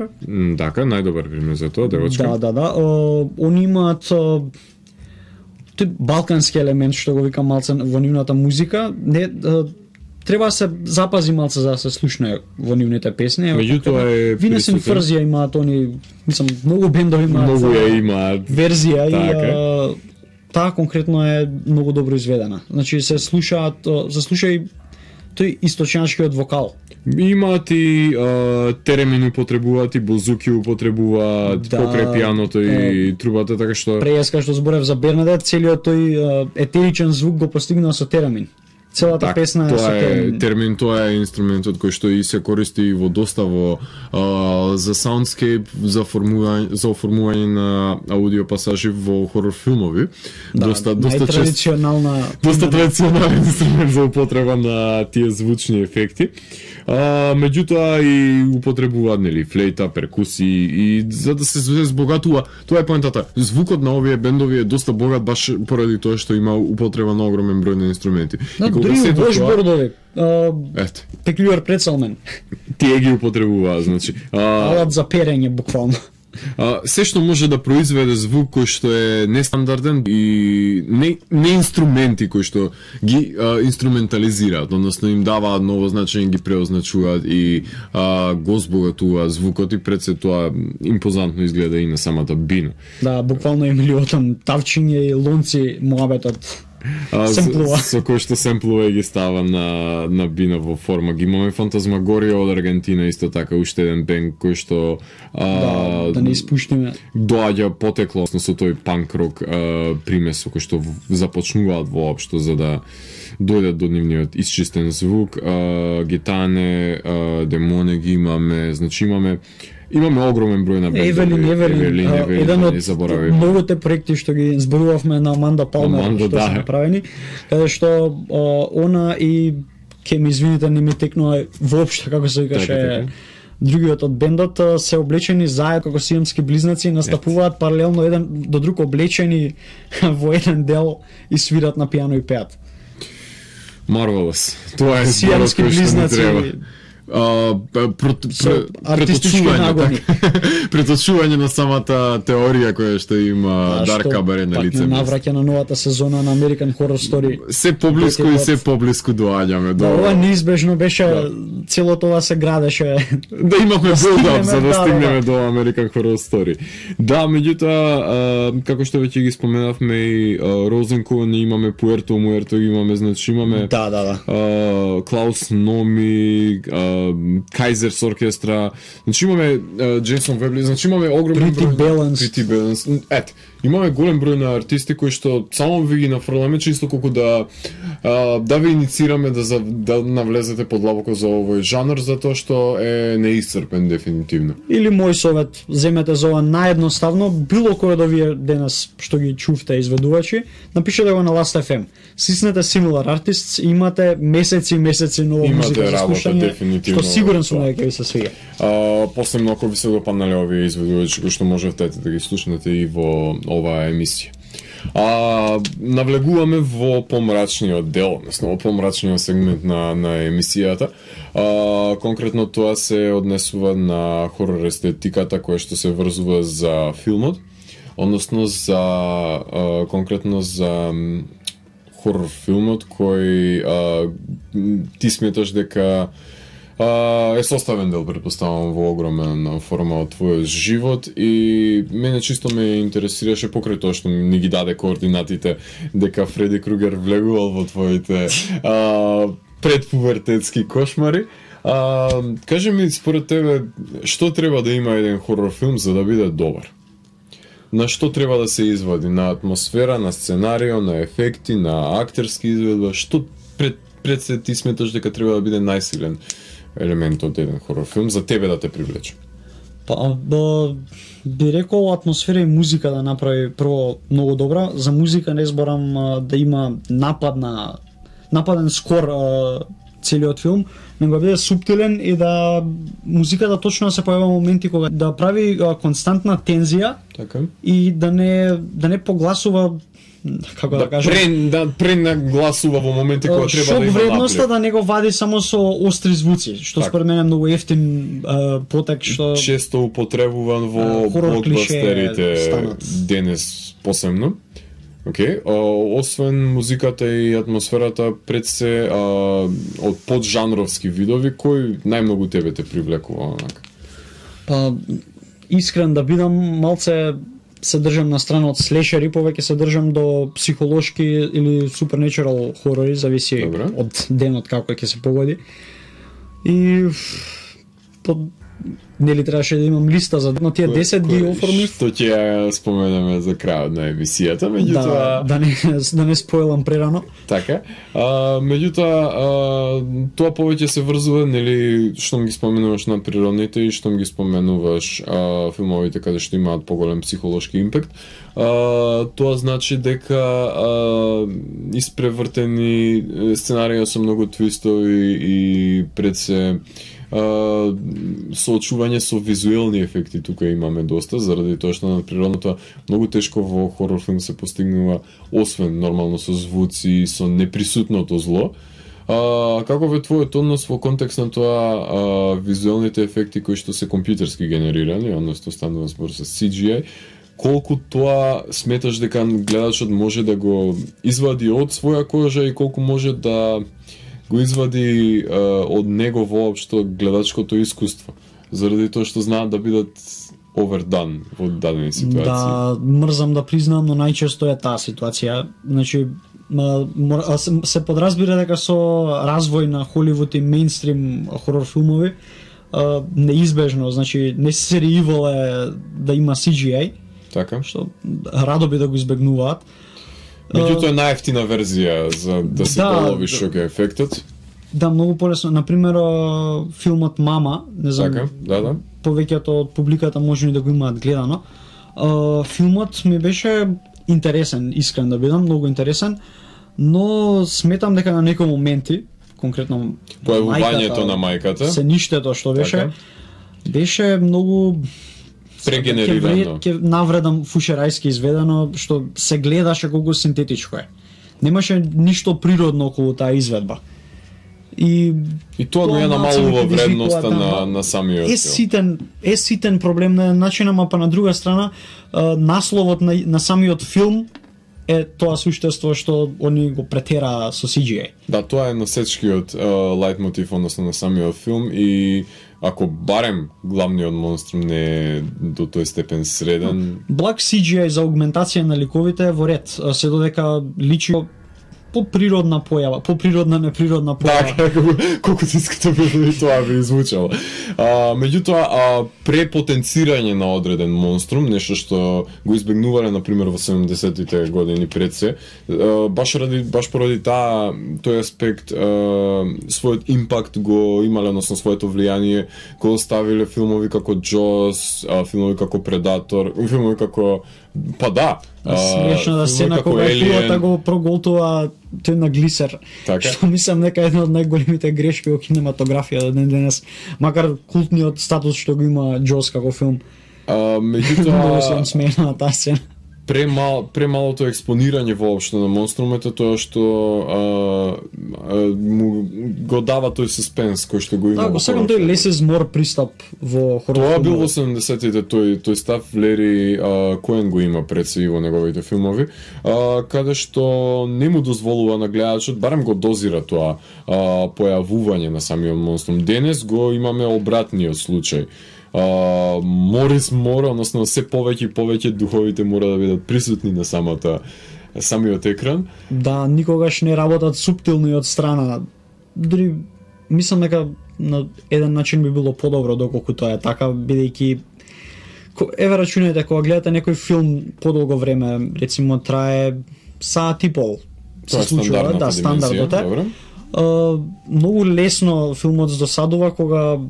Така, најдобар пример за тоа, девочка. Да. Они имаат тој балкански елемент што го викам малце во нивната музика. Не треба се запази малце за да се слушне во нивните песни. Меѓутоа е Винесен Фрзија имаат они, мислам, многу бендови имаат. Многу ја имаат верзија и таа конкретно е многу добро изведена. Значи се слуша и тој источничкиот вокал. Имаат и теремини употребуваат и бузуки употребуваат покрај пијаното и трубата, така што преска што зборев за Бернадет, целиот тој етеричен звук го постигнува со теремин. Целата песна е со термин, тоа е инструментот кој што и се користи во доста за soundscape, за оформување на аудио пасажи во хорор филмови. Доста традиционална традиционален инструмент за употреба на тие звучни ефекти. Меѓутоа и употребуваат флейта, перкусии и за да се збогатува, тоа е поентата. Звукот на овие бендови е доста богат баш поради тоа што има употреба на огромен број на инструменти. Да, Дури вошбордови. Ето. Peculiar pretzelmen. Тие ги употребуваат, значи. Алат за перење буквално. Се што може да произведе звук кој што е нестандарден и не инструменти кои што ги инструментализираат, односно им даваат ново значење, ги преозначуваат и го збогатуваат звукот и пред се тоа импозантно изгледа и на самата бина. Да, буквално Емилиотон тавчиње и лонци муабетот. Со кој што семплува и ги става на бина во форма. Ги имаме Фантазмагорија од Аргентина, исто така уште еден бенд кој што да не испуштиме. Доаѓа потекло со тој панк рок примес кој што започнуваат воопшто за да дојдат до нивниот исчистен звук. Гитане, Демоне ги имаме, значи имаме огромен број на бендови. Евелин, еден од многуте проекти што ги зборувавме на Аманда Палмер, што се направени, каде што она и ке ми извините, не ми текнува воопшто како се викаше другиот од бендот, се облечени заедно како сиамски близнаци, настапуваат паралелно еден до друг облечени во еден дел и свират на пијано и пеат. Marvelous. Тоа е сиамски близнаци. Преточување на самата теорија која што има Дарк Кабаре на лице. Навраќа на новата сезона на American Horror Story. Се поблиску и се поблиску доаѓаме до. Ова неизбежно беше, целото ова се градеше. Да имавме build-up за да стигнеме до American Horror Story. Да, меѓутоа, како што веќе ги споменавме и Розенкоен, имаме Пуерто Муерто, имаме, значи имаме Клаус Номи, Кайзерс оркестра, значи имаме Джейсон Вебли, значи имаме огромен број Pretty Balance. Ет, имаме голем број на артисти кои што само ви ги нафрламе чисто колку да ви иницираме да навлезете подлабоко за овој жанр, затоа што е неисцрпен дефинитивно. Или мој совет, земете за ова наедноставно, било кој од овие денес што ги чувте изведувачи, напишете го на Last.fm. Сиснете Similar Artists, имате месеци нова музика за слушање, што сигурен сум дека ќе ви се свиѓа. Посебно ако ви се допаднале овие изведувачи кои што можете да ги слушнете и во оваа емисија. Навлегуваме во помрачниот дел, односно во помрачниот сегмент на емисијата. Конкретно тоа се однесува на хорор естетиката која што се врзува за филмот, односно за конкретно за хорор филмот кој ти сметаш дека е составен дел, претпоставам, во огромна форма од твојот живот и мене чисто ме интересираше покрај тоа што ни ги даде координатите дека Фреди Кругер влегувал во твоите предпубертетски кошмари. Кажи ми, според тебе, што треба да има еден хорор филм за да биде добар? На што треба да се извади? На атмосфера, на сценарио, на ефекти, на актерски изведба? Што пред се ти сметаш дека треба да биде најсилен елемент од еден хорор филм за тебе да те привлече? Би рекол атмосфера и музика да направи прво многу добра. За музика не зборам да има нападен скор целиот филм, него биде суптилен и да музиката точно се појавува моменти кога да прави константна тензија, така, и да не погласува, како да кажам, да пренагласува во моменти кога треба да има шок вредноста, да не го вади само со остри звуци, што според мене е многу ефтин потек што често употребуван во блокбастерите денес посебно. Освен музиката и атмосферата, пред се од поджанровски видови, кој најмногу тебе те привлекува онака? Искрен да бидам, малце се држам на страна од слешери, повеќе се држам до психолошки или supernatural хорори, зависи од денот како ќе се погоди. И нели требаше да имам листа за тие 10 ги оформив. Што ќе ја споменеме за крајот на емисијата, меѓутоа да не спойлам прерано. Така. Меѓутоа тоа повеќе се врзува, нели, што ги споменуваш на природните и што ги споменуваш филмовите каде што имаат поголем психолошки импакт. Тоа значи дека испревртени сценарија со многу твистови и пред се соочување со визуелни ефекти тука имаме доста, заради тоа што на природното многу тешко во хорор филм се постигнува, освен нормално со звуци, со неприсутното зло, Каков е твојот однос во контекст на тоа визуелните ефекти кои што се компјутерски генерирани, односно станува збор за CGI, колку тоа сметаш дека гледачот може да го извади од своја кожа и колку може да го извади од него воопшто гледачкото искуство, заради тоа што знаат да бидат овердан во дадени ситуации. Да, мрзам да признам, но најчесто е таа ситуација. Значи, се подразбира дека со развој на Холивуд и мејнстрим хорор филмови неизбежно, значи necessary evil е да има CGI. Така. Што радо би да го избегнуваат. Меѓутоа е најефтина верзија за да се полови шок ефектот. Да, многу полесно. Например, филмот Мама, не знам. Така, да. Повеќето од публиката може да го имаат гледано. Филмот ми беше интересен, искрен да бидам, многу интересен, но сметам дека на некои моменти, конкретно појавувањето на мајката, се ништето што беше, беше многу прегенерирано. Ке навредам фушерајски изведено, што се гледаше колку синтетичко е. Немаше ништо природно околу таа изведба. И тоа го ја намалува вредноста на самиот филм. Е ситен проблем на начин, ама па на друга страна насловот на самиот филм е тоа суштество што они го претера со CGI. Да, тоа е носечкиот лајт мотив, односно на самиот филм, и ако барем главниот монструм не е до тој степен среден. Благ CGI за аугментација на ликовите е во ред, се додека личи поприродна појава, поприродна неприродна појава. Да, колку тиското би тоа би звучало. Меѓутоа, препотенцирање на одреден монструм, нешто што го избегнувале на пример во 70-тите години пред се, баш поради тој аспект својот импакт го имале, односно своето влијание го оставиле филмови како Джос, филмови како Предатор, филмови како смешната сцена кога кулата го проголтува тој на глисер. Така. Што мислам дека е една од најголемите грешки во кинематографија до ден денес, макар култниот статус што го има Джос како филм. Меѓутоа се смеена таа сцена. Премалото експонирање воопшто на монструмите, тоа што му го дава тој суспенс кој што го има. Да, го сакам тој less is more пристап во хорор. Тоа бил во 70-тите тој став Лери Коен го има пред се и во неговите филмови, каде што не му дозволува на гледачот, барем го дозира тоа појавување на самиот монструм. Денес го имаме обратниот случај. Морис мора, односно се повеќе и повеќе духовите мора да бидат присутни на самиот екран. Да, никогаш не работат суптилно и од страна. Дори мислам дека на еден начин би било подобро доколку тоа е така, бидејќи еве рачунајте кога гледате некој филм подолго време, рецимо трае саат и пол. Тоа е стандардната стандардот е. Многу лесно филмот досадува кога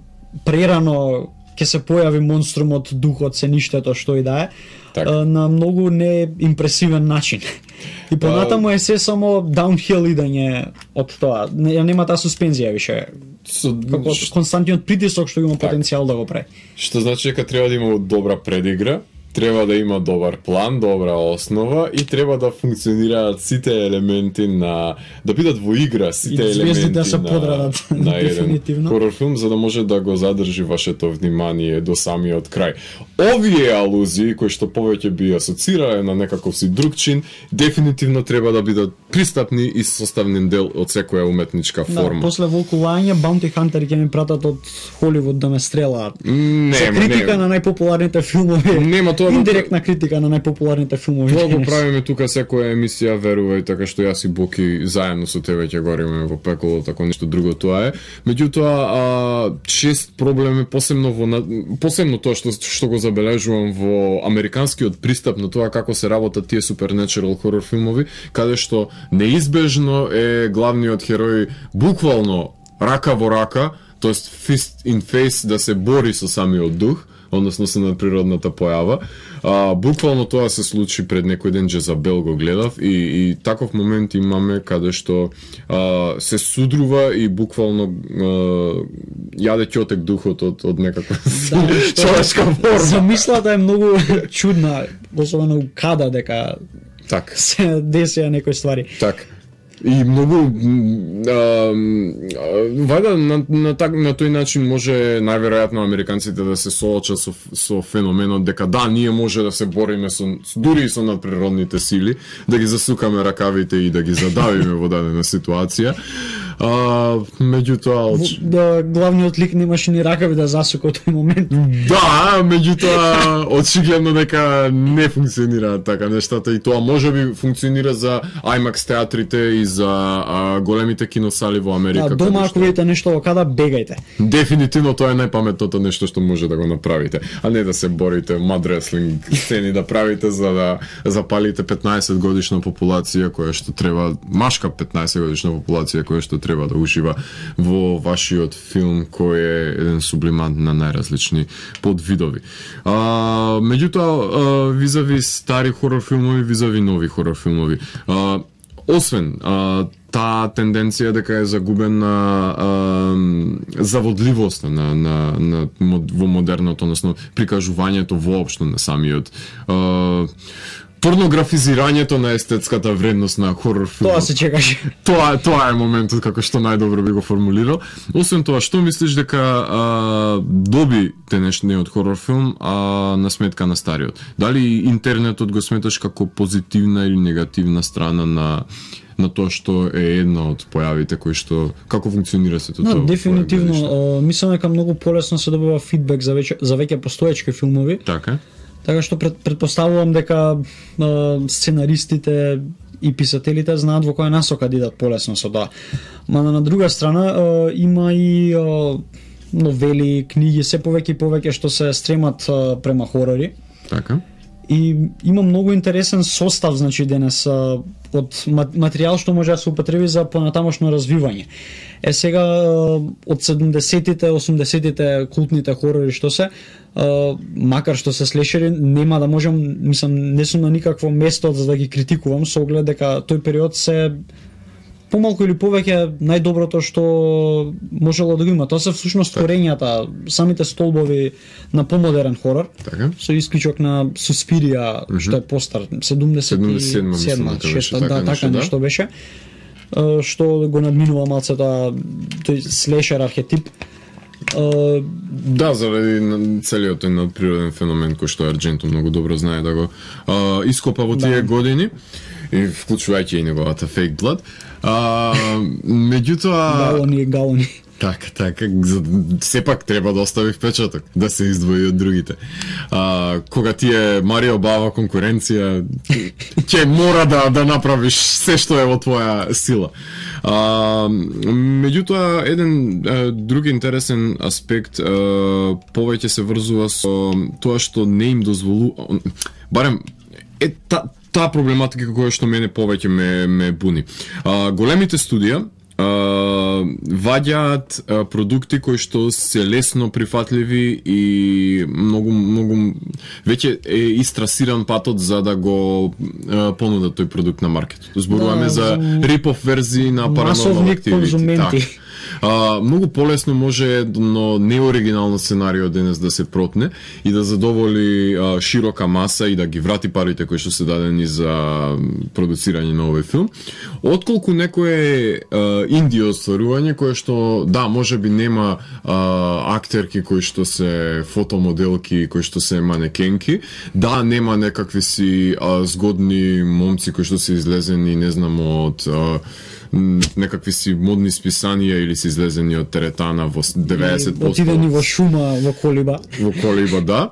прерано ќе се појави монструмот, духот, се ништето што и да е, на многу неимпресивен начин. И понатаму е се само даунхил идење од тоа. Нема таа суспензија више. Како константниот притисок што има потенцијал да го прави. Што значи дека треба да има добра предигра, треба да има добар план, добра основа и треба да функционираат сите елементи да бидат во игра сите елементи да се подредат на еден хорор филм, за да може да го задржи вашето внимание до самиот крај. Овие алузии кои што повеќе би асоцирале на некаков си друг чин, дефинитивно треба да бидат пристапни и составен дел од секоја уметничка форма. Да, после волкување Bounty Hunter ќе ми пратат од Холивуд да ме стрелаат. За критика на најпопуларните филмови. Нема тоа индиректна критика на најпопуларните филмови. Тоа го правиме тука секоја емисија, верувај, така што јас и Боки заедно со тебе ќе гориме во пеколо, тако ништо друго тоа е. Меѓутоа, чест проблем е посебно тоа што го забележувам во американскиот пристап на тоа како се работат тие supernatural хорор филмови, каде што неизбежно е главниот херој буквално рака во рака, тоест fist in face да се бори со самиот дух, односно со надприродната појава. Буквално тоа се случи пред некој ден, Джезабел го гледав и таков момент имаме каде што се судрува и буквално јаде ќотек духот од некаква човечка форма. Замислата е многу чудна, особено када дека се десија некои ствари. Так. И многу вајда на тој начин може најверојатно американците да се соочат со феноменот дека да, ние може да се бориме дури и со надприродните сили, да ги засукаме ракавите и да ги задавиме во дадена ситуација. Меѓутоа главниот лик немаше ни ракави да засука од тој момент. Да, меѓутоа очигледно дека не функционира така нештата и тоа можеби функционира за IMAX театрите и за големите киносали во Америка. Да, дома ако видите нешто во када бегајте. Дефинитивно тоа е најпаметното нешто што може да го направите, а не да се борите мад реслинг сцени да правите за да запалите 15 годишна популација која што треба, машка 15 годишна популација која што треба да ужива во вашиот филм кој е еден сублимант на најразлични подвидови. Меѓутоа, визави стари хорор филмови, визави нови хорор филмови. Освен таа тенденција дека е загубена заводливоста во модерното, односно прикажувањето воопшто на самиот порнографизирањето на естетската вредност на хорор филмот. Тоа се чекаше. Тоа е моментот како што најдобро би го формулирал. Освен тоа, што мислиш дека доби денешниот хорор филм на сметка на стариот? Дали интернетот го сметаш како позитивна или негативна страна на тоа што е една од појавите кои што како функционира сето тоа? Дефинитивно, мислам дека многу полесно се добива фидбек за веќе постоечки филмови. Така што предпоставувам дека сценаристите и писателите знаат во која насока да идат полесно со тоа. Мада на друга страна има и новели, книги, се повеќе и повеќе што се стремат према хорори. Така. И има многу интересен состав, значи денес од материјал што може да се употреби за понатамошно развивање. Сега од 70-тите, 80-тите култните хорори што се, макар што се слешери, нема да можам, мислам, не сум на никакво место за да ги критикувам со оглед дека тој период се помалку или повеќе најдоброто што можело да го има. Тоа се всушност творењата, самите столбови на помодерен хорор, со исклучок на Суспирија, што е постар, 77-6, така нешто беше, што го надминува малце тој слешер архетип. Да, заради целиот тој надприроден феномен кој што Ардженто многу добро знае да го ископа во тие години, и вклучувајќи и неговата fake blood. Меѓутоа галони. Така, сепак треба да остави впечаток, да се издвои од другите. Кога ти е Марио Бава конкуренција, ќе мора да направиш се што е во твоја сила. Меѓутоа, еден друг интересен аспект повеќе се врзува со тоа што не им дозволува, барем таа проблематика која што мене повеќе ме буни. Големите студија ваѓаат продукти кои што се лесно прифатливи и многу веќе е истрасиран патот за да го понудат тој продукт на маркет. Зборуваме за рипов верзии на Paranormal Activity. Многу полесно може едно неоригинално сценарио денес да се протне и да задоволи широка маса и да ги врати парите кои што се дадени за продуцирање на овој филм, отколку некое инди остварување кое што да, можеби нема актерки кои што се фотомоделки, кои што се манекенки, да, нема некакви си згодни момци кои што се излезени, не знам, од некакви си модни списанија или си излезени од теретана во 90%. Отидени во шума, во колиба. Во колиба, да.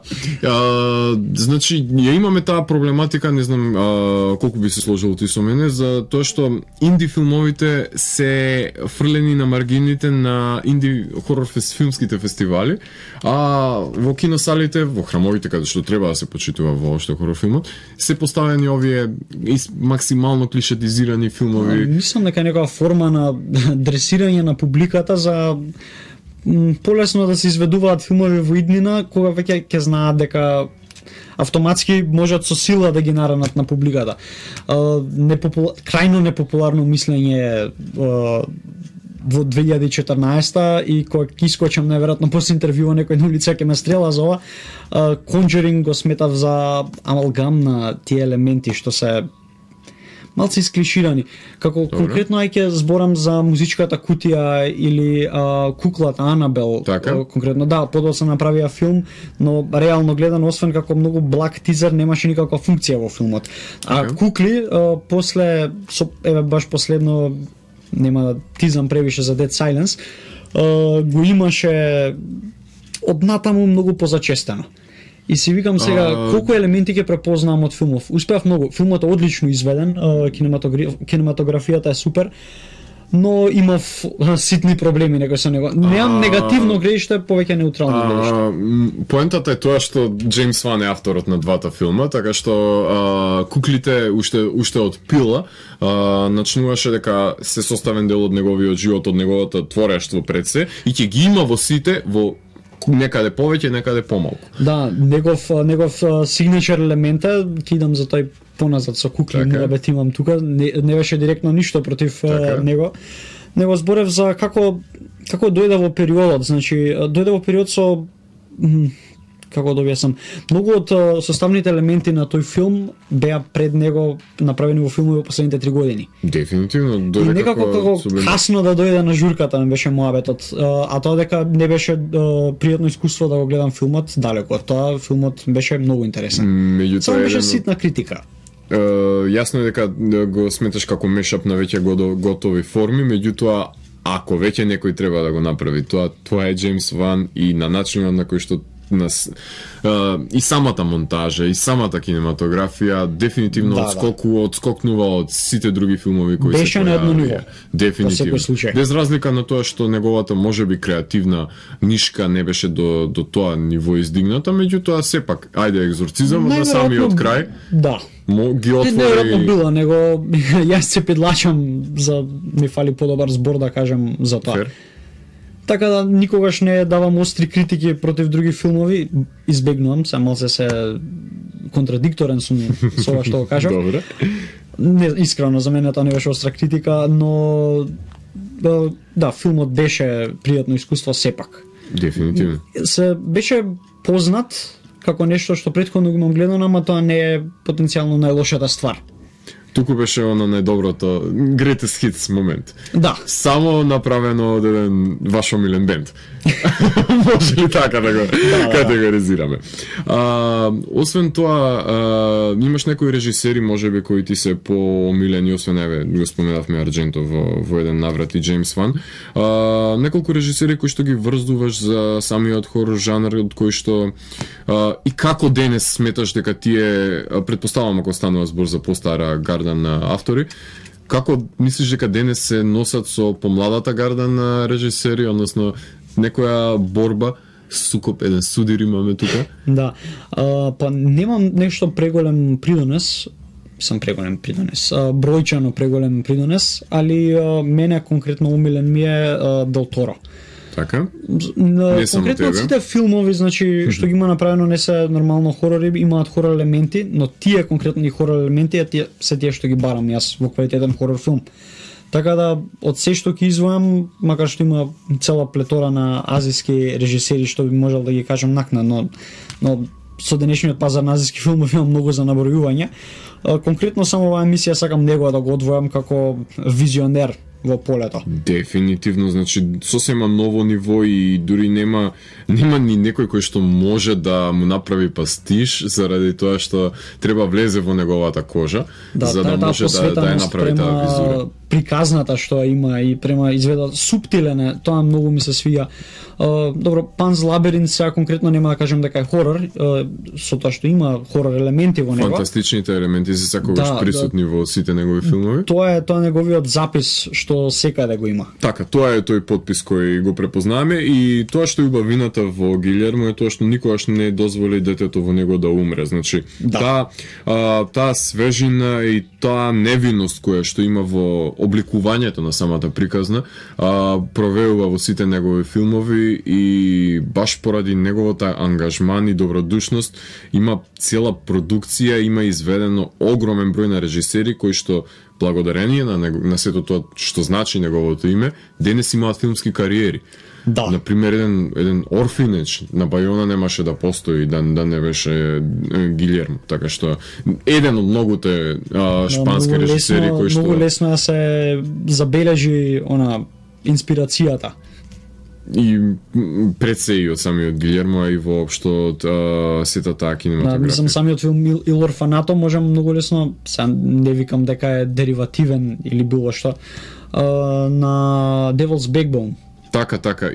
Значи, ја имаме таа проблематика, не знам колку би се сложил ти со мене, за тоа што инди филмовите се фрлени на маргините на инди хорор филмските фестивали, а во киносалите, во храмовите каде што треба да се почитува воопшто хорор филмот, се поставени овие максимално клишетизирани филмови. Мислам дека некоја форма на дресирање на публиката за полесно да се изведуваат филмови во иднина, кога веќе ќе знаат дека автоматски можат со сила да ги наранат на публиката. Крајно непопуларно мислење во 2014 и кога ќе искочам најверојатно после интервјуа некој на улица ќе ме стрела за ова, Conjuring го сметав за амалгам на тие елементи што се малце исклиширани. Како конкретно ќе зборам за музичката кутија или куклата Анабел, конкретно да, подоцна направија филм, но реално гледано освен како многу благ тизер немаше никаква функција во филмот. А кукли после еве баш последно нема да тизам превише за Dead Silence, го имаше однатаму многу позачестено. И си викам сега колку елементи ќе препознавам од филмов. Успеав многу. Филмот е одлично изведен, кинематографијата е супер, но имав ситни проблеми некои со него. Немам негативно гледиште, повеќе неутрално гледиште. Поентата е тоа што Джеймс Ван е авторот на двата филма, така што куклите уште од пила начнуваше дека се составен дел од неговиот живот, од неговото творештво пред се и ќе ги има во сите во некаде повеќе, некаде помалку. Да, негов сигничер елемент е, ќе идам за тој поназад со кукли, морабет имам тука, не беше директно ништо против него. Него зборев за како дојде во периодот, значи дојде во период со како да објаснам, многу од составните елементи на тој филм беа пред него направени во филмови во последните 3 години. Дефинитивно дојде и некако касно да дојде на журката ми беше моабетот, а тоа дека не беше пријатно искуство да го гледам филмот, далеко од тоа филмот беше многу интересен. Само беше ситна критика. Јасно е дека го сметаш како мешап на веќе готови форми, меѓутоа ако веќе некој треба да го направи тоа е Джеймс Ван и на начинот на кој што и самата монтажа и самата кинематографија дефинитивно одскокнува од сите други филмови кои беше се на едно ниво. Дефинитивно. Без разлика на тоа што неговата можеби креативна нишка не беше до тоа ниво издигната, меѓутоа сепак ајде екзорцизам на самиот крај. Да. Ги отвори. Неверојатно било, него јас се педлачам за ми фали подобар збор да кажам за тоа. Така да никогаш не давам остри критики против други филмови, избегнувам, само се контрадикторен сум со ова што го кажам. Добре. Не, искрено за мене тоа не беше остра критика, но да, филмот беше пријатно искуство сепак. Дефинитивно. Се беше познат како нешто што претходно го имам гледано, ама тоа не е потенцијално најлошата ствар. Туку беше оно најдоброто greatest hits момент. Да. Само направено од еден ваш омилен бенд. Може ли така да го категоризираме? Освен тоа, имаш некои режисери можеби кои ти се поомилени, освен еве го споменавме Ардженто во еден наврат и Джеймс Ван. Неколку режисери кои што ги врздуваш за самиот хорор жанр, од кој што и како денес сметаш дека тие, претпоставам ако станува збор за постара гарда на автори, како мислиш дека денес се носат со помладата гарда на режисери, односно некоја борба, сукоп, еден судир имаме тука? Да, па немам нешто преголем придонес, бројчано преголем придонес, али мене конкретно умилен ми е Дел Торо. Така? Конкретно сите филмови, значи, што ги има направено не се нормално хорори, имаат хорор елементи, но тие конкретни хорор елементи се тие што ги барам јас во квалитетен хорор филм. Така да, од се што ќе извојам, макар што има цела плетора на азиски режисери што би можел да ги кажам накнадно, но со денешниот пазар на азиски филмови има многу за набројување. Конкретно само оваа емисија сакам него да го одвојам како визионер во полето. Дефинитивно, значи сосема ново ниво и дури нема ни некој кој што може да му направи пастиш заради тоа што треба влезе во неговата кожа, за да може да ја направи таа визура. Приказната што има и према изведа суптилен, тоа многу ми се свија. Добро, Pan's Labyrinth сега конкретно нема да кажем дека е хорор, со тоа што има хорор елементи во него. Фантастичните елементи се секогаш присутни во сите негови филмови. Тоа е неговиот запис што секаде го има. Така, тоа е тој подпис кој го препознаваме и тоа што е убавината во Гилермо е тоа што никогаш не дозволи детето во него да умре. Значи, таа свежина и таа невиност која што има во обликувањето на самата приказна, провеува во сите негови филмови и баш поради неговата ангажман и добродушност има цела продукција, има изведено огромен број на режисери кои што благодарение на сето тоа што значи неговото име, денес имаат филмски кариери. Да. Например, еден орфинеч на Бајона немаше да постои да не беше Гилјермо, така што еден од многуте шпански режисери кои што многу лесно да се забележи инспирацијата. И пред се и од самиот Гилјермо, а и воопшто од сета таа кинематографија. Мислам, самиот филм Il Orfanato може многу лесно, не викам дека е деривативен или било што, на Devil's Backbone. Така,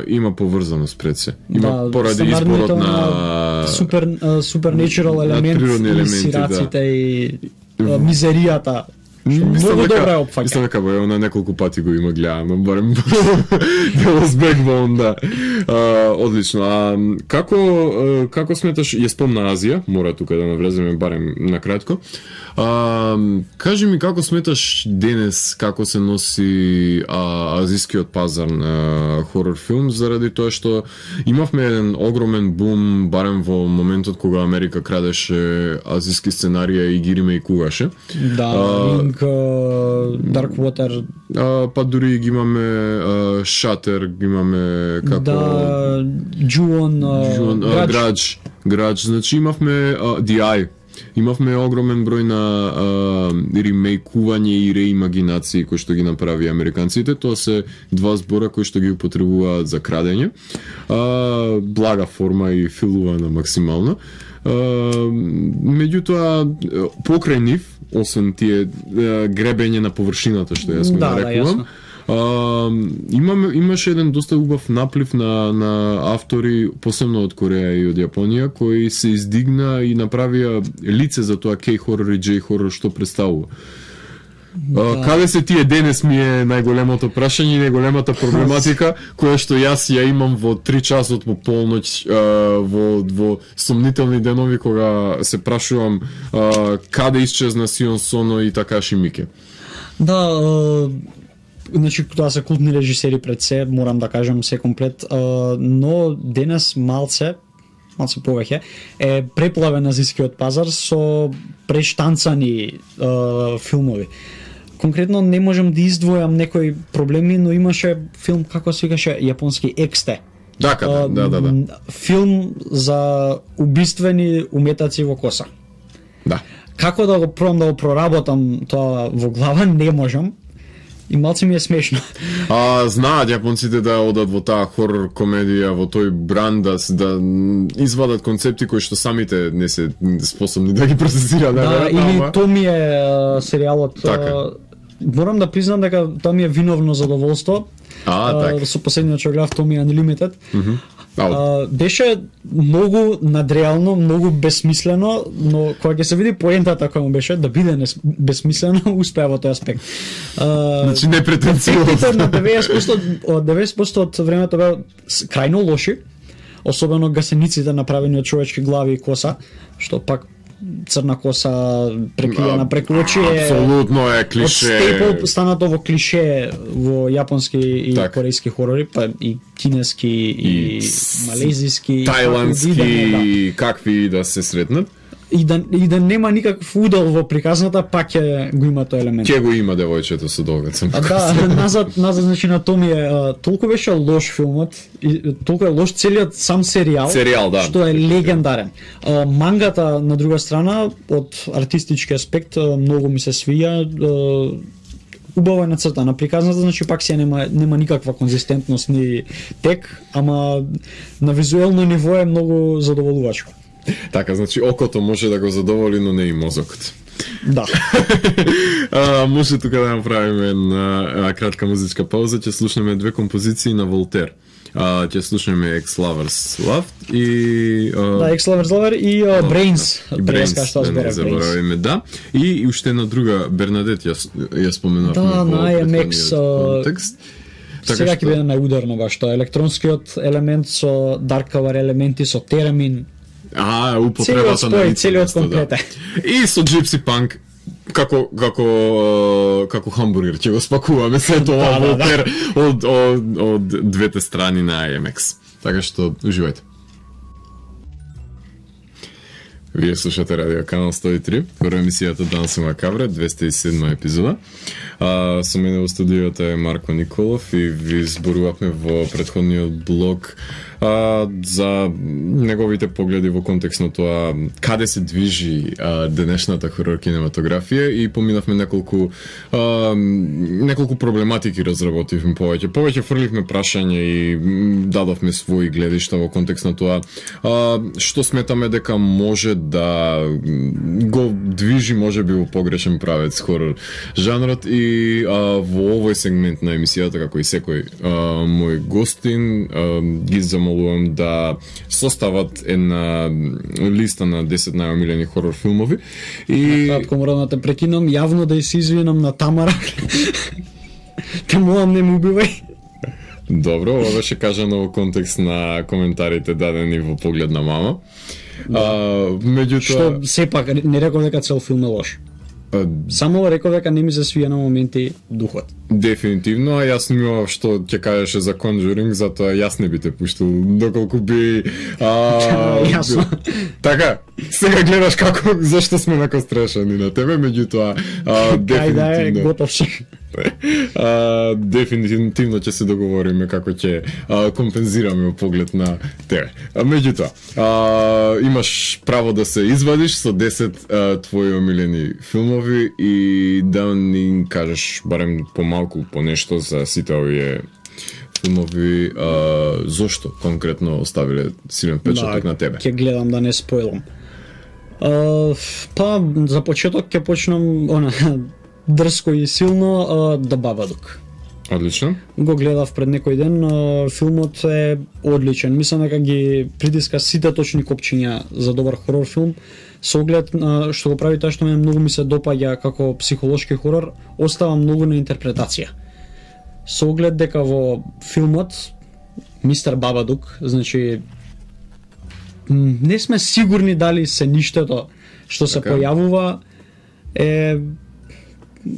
има поврзаност пред се. Има поради изборот на supernatural елементи, сираците и мизеријата. Многу добра е опфаќа. Мислам дека она неколку пати го има гледано, барем Devil's Backbone, да. Одлично. Како сметаш, ја спомна Азија, мора тука да навлеземе барем на кратко. Кажи ми како сметаш денес како се носи азискиот пазар на хорор филм, заради тоа што имавме еден огромен бум барем во моментот кога Америка крадеше азиски сценарија и ги ремейкуваше. Да, Darkwater. Па дури ги имаме Shutter, ги имаме како Ju-on, Grudge, значи имавме The Eye. Имавме огромен број на ремейкување и реимагинации кои што ги направи американците. Тоа се два збора кои што ги употребуваат за крадење. Блага форма и филувана максимално. Меѓутоа, покрај нив, освен тие гребење на површината што јас го нарекувам, имаше еден доста убав наплив на автори, посебно од Кореја и од Јапонија, кои се издигна и направија лице за тоа K-хорор и J-хорор што представува. Каде се тие денес ми е најголемото прашање и најголемата проблематика која што јас ја имам во 3 часот по полноќ во сомнителни денови кога се прашувам каде исчезна Сион Соно и Такаши Мике. Да, значи тоа се култни режисери пред се, морам да кажам се комплет, но денес малце повеќе е преплавен азискиот пазар со прештанцани филмови. Конкретно не можам да издвојам некои проблеми, но имаше филм, како се викаше, јапонски Ексте. Да. Филм за убиствени уметаци во коса. Да. Како да го пробам да го проработам тоа во глава, не можам. И малце ми е смешно. Знаат јапонците да одат во таа хорор комедија, во тој бранд да извадат концепти кои што самите не се способни да ги процесираат. Да, или тоа ми е серијалот. Морам да признам дека тоа ми е виновно задоволство. Со последниот што гледав, Томи Unlimited. Беше многу надреално, многу бесмислено, но кога ќе се види поентата која му беше да биде бесмислено, успеа во тој аспект. Значи не претенциозно. На 90% од времето беа крајно лоши, особено гасениците направени од човечки глави и коса, што пак црна коса прекриена преку очи е апсолутно е клише. Степл станато во клише во јапонски и корејски хорори, па и кинески и малезиски, тајландски, какви да се сретнат. И да нема никаков удел во приказната, пак го има тој елемент. Ќе го има девојчето со долгацем. Назад значи на тоа ми е толку беше лош филмот и толку е лош целиот сам серијал, што е легендарен. Мангата на друга страна од артистички аспект многу ми се свија. Убаво е нацртана приказната, значи пак се нема никаква конзистентност ни тек, ама на визуелно ниво е многу задоволувачко. Така, значи окото може да го задоволи, но не и мозокот. Да. Може тука да направиме една кратка музичка пауза, ќе слушнеме две композиции на Волтер. Ќе слушнеме Ex-Lovers Loved и Ex-Lovers Lover и Brains. Brains, да не заборавиме, да. И уште една друга, Бернадет ја споменавме во IMX контекст. Сега ќе биде најударно баш тоа електронскиот елемент со Dark Cover елементи со теремин. Употребата на целиот комплет. И со Gypsy Punk како хамбургер ќе го спакуваме се тоа Волтер од двете страни на IMX. Така што уживајте. Вие слушате Радио Канал 103, прва емисијата Данси Макабре, 207 епизода. Со мене во студиото е Марко Николов и ви зборувавме во претходниот блог за неговите погледи во контекст на тоа каде се движи денешната хорор кинематографија и поминавме неколку проблематики разработивме повеќе фрливме прашања и дадовме своји гледишта во контекст на тоа што сметаме дека може да го движи можеби во погрешен правец хорор жанрот и во овој сегмент на емисијата, како и секој мој гостин, ги замолувам да состават една листа на 10 најомилени хорор филмови и кратко морам да те прекинам, јавно да се извинам на Тамара. Те молам, не му убивај. Добро, ова беше кажано во контекст на коментарите дадени во Поглед на мама. Меѓутоа, што сепак не реков дека цел филм е лош. Само реков дека не ми се свија на моменти духот. Дефинитивно, а јас мислам што ќе кажеше за Conjuring, затоа јас не би те пуштил доколку би Јасно. Така, сега гледаш како зашто сме накострешени на тебе, меѓутоа дефинитивно. Готов сум. Дефинитивно ќе се договориме како ќе компензираме Поглед на тебе. Меѓутоа, имаш право да се извадиш со 10 твои омилени филмови и да ни кажеш барем помалку по нешто за сите овие филмови, зошто конкретно оставиле силен печаток на тебе. Ќе гледам да не спойлам. Па за почеток ќе почнам дрско и силно The Babadook. Одлично. Го гледав пред некој ден, филмот е одличен. Мислам дека ги притиска сите точни копчиња за добар хорор филм. Со оглед што го прави тоа што мене многу ми се допаѓа како психолошки хорор, остава многу на интерпретација. Со оглед дека во филмот Мистер Бабадук, значи не сме сигурни дали се ништето што се појавува е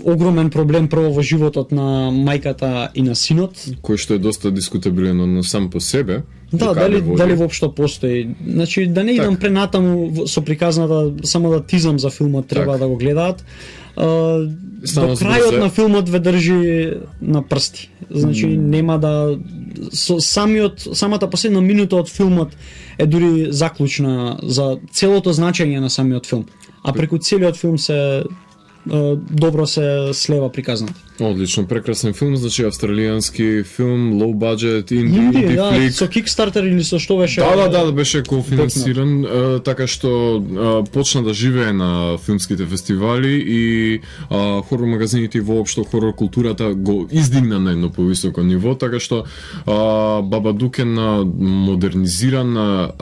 огромен проблем прво во животот на мајката и на синот, кој што е доста дискутабилен на сам по себе. Да, дали воопшто постои. Значи да не идам пренатаму со приказната, само да тизам за филмот, треба да го гледаат. До крајот на филмот ве држи на прсти. Значи нема да самата последна минута од филмот е дури заклучна за целото значење на самиот филм. А преку целиот филм се добро се слева приказната. Одлично, прекрасен филм, значи австралијански филм, low budget, инди флик. Со Kickstarter или со што беше? Да, беше кофинансиран, така што почна да живее на филмските фестивали и хорор магазините и воопшто хорор културата го издигна на едно повисоко ниво, така што Бабадук е на модернизирана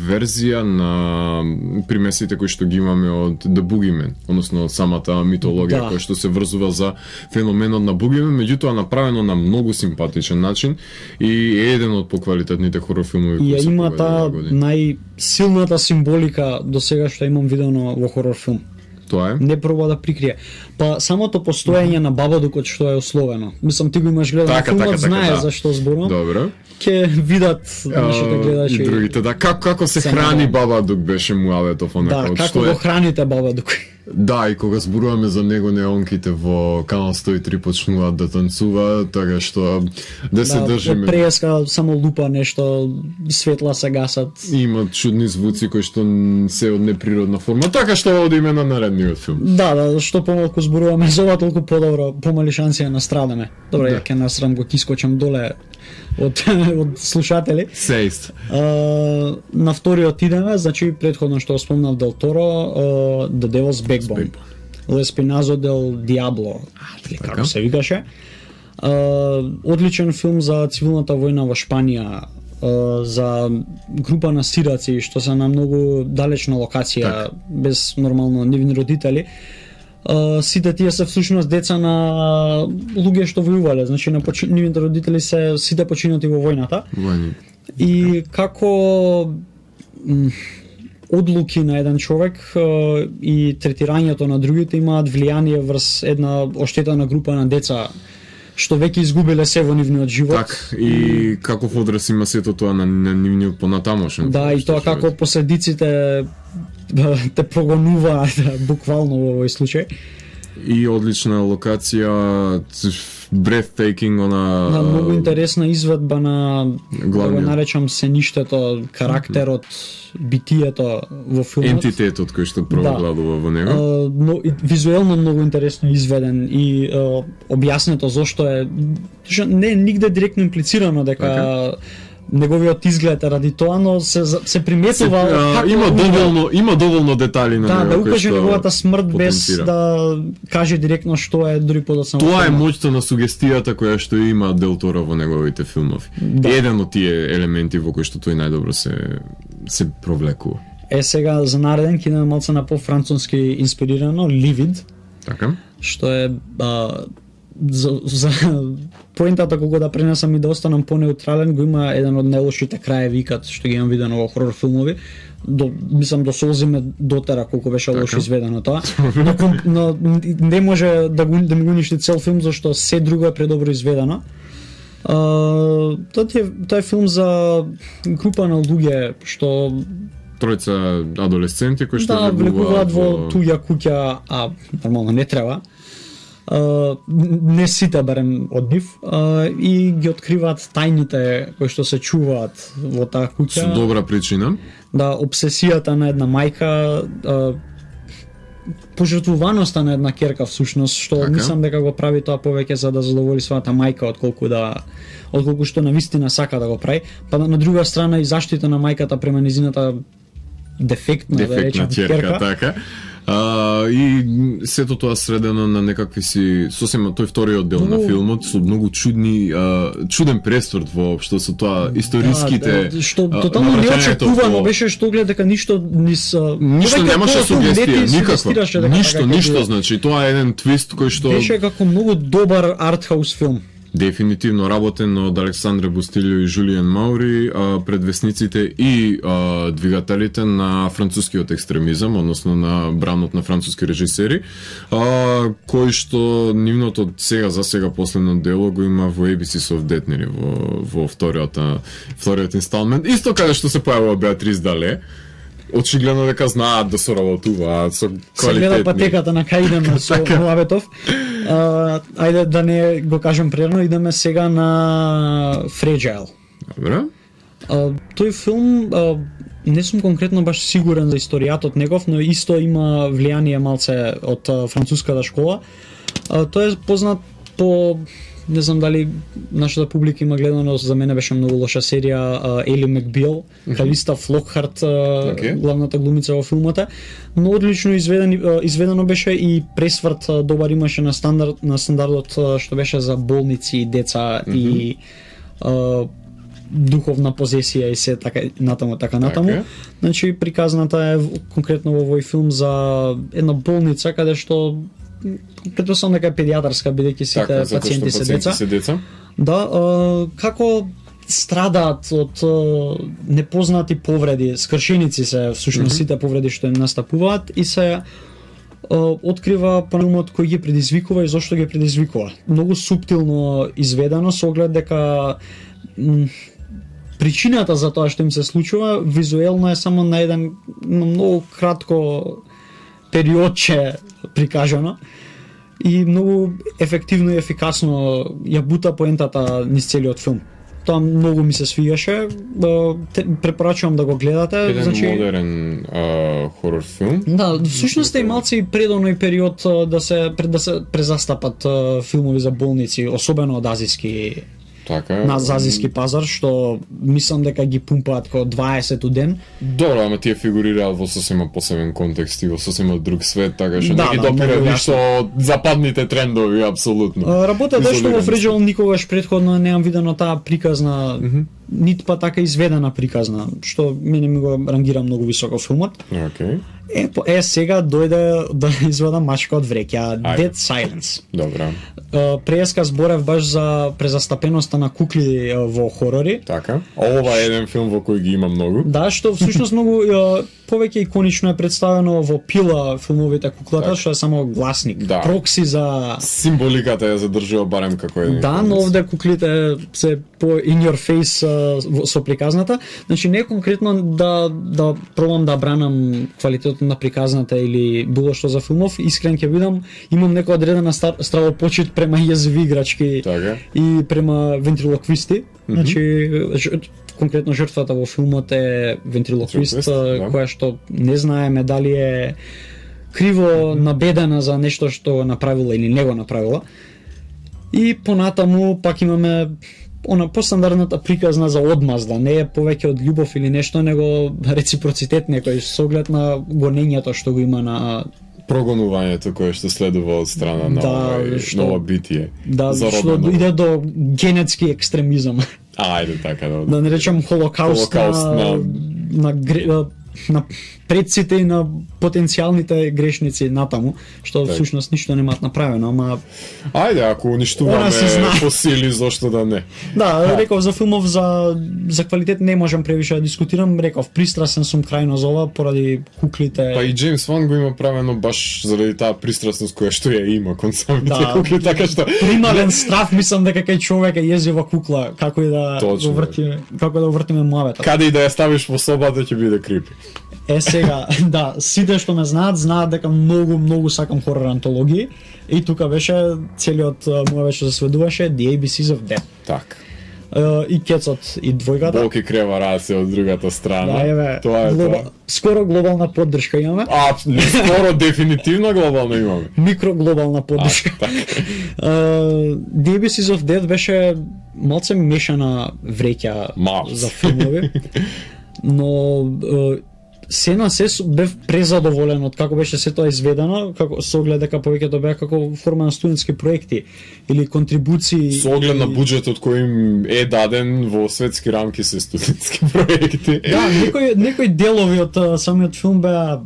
верзија на примесите кои што ги имаме од The Boogeyman, односно од самата митологија која што се врзува за феноменот на Бугимен, меѓутоа направено на многу симпатичен начин и е еден од поквалитетните хорор филмови кои се има таа најсилната символика до сега што имам видено во хорор филм. Тоа е? Не проба да прикрие. Па самото постоење на Бабадукот што е условено. Мислам ти го имаш гледано филмот, знае за што зборувам. Добро. Ќе видат нашите гледачи. И другите, да, како се храни Бабадук беше муавето Да, како го храните Бабадук. Да, и кога зборуваме за него неонките во Канал 103 почнуваат да танцува, така што да се држиме. Да, преска само лупа нешто, светла се гасат. Има чудни звуци кои што се од неприродна форма, така што одиме на наредниот филм. Да, што помалку зборуваме за ова, толку подобро, помали шанси да настрадаме. Добре, ја ќе насрам го кискочам доле од слушатели. Сејст. На вториот идеме, значи претходно што спомнав Дел Торо, The Devil's Backbone. L'Espinazo del Diablo, како се викаше. Одличен филм за цивилната војна во Шпанија, за група на сираци што се на многу далечна локација, без нормално нивни родители. Сите тие се всушност деца на луѓе што војувале, значи на нивните родители се сите починати во војната. И како одлуки на еден човек и третирањето на другите имаат влијание врз една оштетена група на деца што веќе изгубиле се во нивниот живот. Так, и каков одраз има сето тоа на нивниот понатамошен. Да, и тоа како последиците те прогонува буквално во овој случај. И одлична локација, breathtaking, Да, многу интересна изведба на да го наречам сеништето, карактерот, битието во филмот. Ентитетот кој што провладува во него. Но визуелно многу интересно изведен и објаснето зошто е не нигде директно имплицирано дека неговиот изглед ради тоа, но се приметува има доволно детали на него. Да укаже неговата смрт без да каже директно што е дури подоцна. Тоа е моќта на сугестијата која што има Дел Торо во неговите филмови. Еден од тие елементи во кои што тој најдобро се провлекува. Сега за нареден ќе идеме малце на по-француски инспирирано, Livid. Така. Што е за поентата кога да пренесам и да останам понеутрален, го има еден од најлошите краеви икад што ги имам видено во хорор филмови. Мислам до солзи ме дотера колку беше лошо изведено тоа. Но не може да ми го уништи цел филм зашто се друго е предобро изведено. Тоа е филм за група на луѓе што тројца адолесценти кои што влегуваат во туѓа куќа, а нормално не треба. Не сите барем од нив и ги откриваат тајните кои што се чуваат во таа куќа. Со добра причина. Да, обсесијата на една мајка, пожртвуваноста на една ќерка всушност, што мислам дека го прави тоа повеќе за да задоволи својата мајка отколку што навистина сака да го прави. Па на друга страна и заштита на мајката према низината дефектна да речем ќерка. Така. И сето тоа средено на некакви си сосема тој вториот дел на филмот со многу чуден пресврт воопшто со тоа историските што тотално неочекувано беше што гледа дека ништо немаше сугестија, ништо значи тоа е еден твист кој што беше како многу добар артхаус филм. Дефинитивно работен од Александре Бустилио и Жулиен Маури, предвесниците и двигателите на францускиот екстремизам, односно на бранот на француски режисери, кој што нивното за сега последно дело го има во Abyss of Death, во вториот инсталмент, исто каде што се појавува Беатрис Дале. Очигледно дека знаат да соработуваат со квалитетни. Се гледа патеката на кај идеме со Муабетов. Ајде да не го кажем прерано, идеме сега на Fragile. Добре. Тој филм не сум конкретно баш сигурен за историјатот негов, но исто има влијание малце од француската школа. Тој е познат по не знам дали нашата публика има гледано, за мене беше многу лоша серија Ели Макбил, Калиста Флокхарт, главната глумица во филмата, но одлично изведено беше и пресврт добар имаше на стандардот што беше за болници и деца и духовна позесија и се така натаму. Значи приказната е конкретно во овој филм за една болница каде што претпоставам дека е педијатарска, бидејќи сите пациенти се деца. Да, како страдаат од непознати повреди, скршеници се всушност сите повреди што им настапуваат и се открива филмот кој ги предизвикува и зошто ги предизвикува. Многу суптилно изведено со оглед дека причината за тоа што им се случува визуелно е само на еден многу кратко периодче прикажано и многу ефективно и ефикасно ја бута поентата низ целиот филм. Тоа многу ми се свигаше, препорачувам да го гледате. Еден модерен хорор филм. Да, всушност е малце и предоној период да се презастапат филмови за болници, особено од азиски на азиски пазар, што мислам дека ги пумпаат како 20 ден. Добро, ама тие фигурираат во сосема посебен контекст и во сосема друг свет, така што не ги допира ништо од западните трендови, апсолутно. Работата што во Fragile никогаш претходно неам видено таа приказна, нит па така изведена приказна, што мене ми го рангира многу високо филмот. Сега дојде да изведа мачка од вреќа, Dead Silence. Добра. Преска зборев баш за презастапеноста на кукли во хорори. Така. Ова е еден филм во кој ги има многу. Да, што всушност многу повеќе иконично е представено во Пила филмовите куклата, што е само гласник, прокси за символиката ја задржува барем како еден. Да, но овде куклите се по in your face со приказната. Значи не конкретно да пробам да бранам квалитетот начинот на приказната или било што за филмов, искрен ќе бидам, имам некоја одредена стравопочит према јазови играчки и према вентрилоквисти. Значи конкретно жртвата во филмот е вентрилоквист, која што не знаеме дали е криво набедена за нешто што направила или не го направила. И понатаму пак имаме она постандардната приказна за одмазда, не е повеќе од љубов или нешто, него реципроцитет некој со оглед на гонењето што го има на прогонувањето кое што следува од страна на нова битие. Да, што иде до генетски екстремизам. Ајде така да не речам холокауст на предците и на потенцијалните грешници натаму, што всушност ништо немаат направено, ама ајде, ако уништуваме фосили, зошто да не? Да, реков за филмов за квалитет не можам превише да дискутирам, реков пристрасен сум крајно за ова поради куклите. Па и Джеймс Ван го има правено баш заради таа пристрасност која што ја има кон самите кукли, така што примален страв мислам дека кај човек е језива кукла, како и да го вртиме, како да вртиме муавета. Каде и да ја ставиш во собата ќе биде крипи. Сега, да, сите што ме знаат дека многу сакам хорор антологии и тука беше целиот моја беше засведуваше The ABCs of Death. Така. И кецот и двојката. Болки крева раце од другата страна. Да, еве, тоа е тоа. Скоро глобална поддршка имаме. Скоро дефинитивно глобално имаме. Микроглобална поддршка. The ABCs of Death беше малце мешана вреќа за филмови. Но се на се бев презадоволен од како беше се тоа изведено, како со оглед дека повеќето беа како форма на студентски проекти или контрибуции. Со оглед на буџетот кој им е даден во светски рамки се студентски проекти. Да, некои делови од самиот филм беа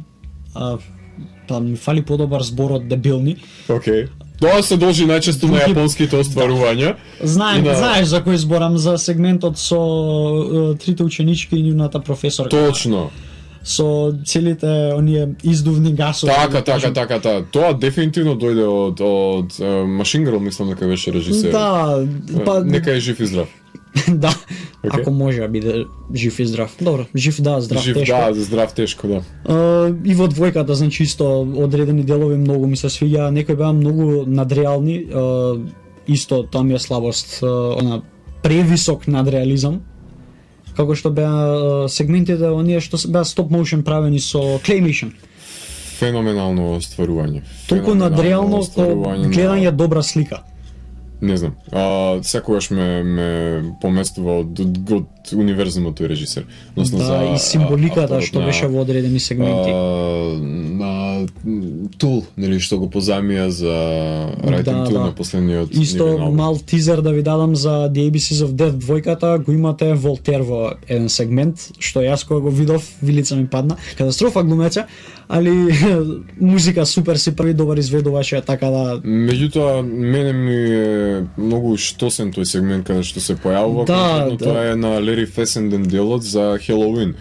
ми фали подобар збор од дебилни. Океј. Тоа се должи најчесто на јапонските остварувања. Знаеш за кој зборам, за сегментот со трите ученички и нивната професорка. Точно. Со целите оние издувни гасови. Така. Тоа дефинитивно дојде од Machine Girl, мислам дека беше режисер. Да, па нека е жив и здрав. Да, ако може да биде жив и здрав. Добро, жив да, здрав жив, тешко. Жив да, здрав тешко, да. И во двојката, значи исто одредени делови многу ми се свиѓа, некои беа многу надреални, исто тоа ми е слабост, она превисок надреализам. Како што беа сегментите оние што беа стоп моушен правени со claymation. Феноменално остварување. Толку надреално гледање добра слика. Не знам. Секогаш ме поместува од универзумот тој режисер. Да, и символиката што беше во одредени сегменти. Тул, нели, што го позајмија за Writing Tool на последниот. Исто мал тизер да ви дадам за The ABCs of Death двојката, го имате Волтер во еден сегмент, што јас кога го видов, вилица ми падна. Катастрофа глумеца, али музика супер си прави, добар изведуваше, така да. Меѓутоа, мене ми е многу штосен тој сегмент каде што се појавува, конкретно тоа е на Лери Фесенден делот за Хелоуин.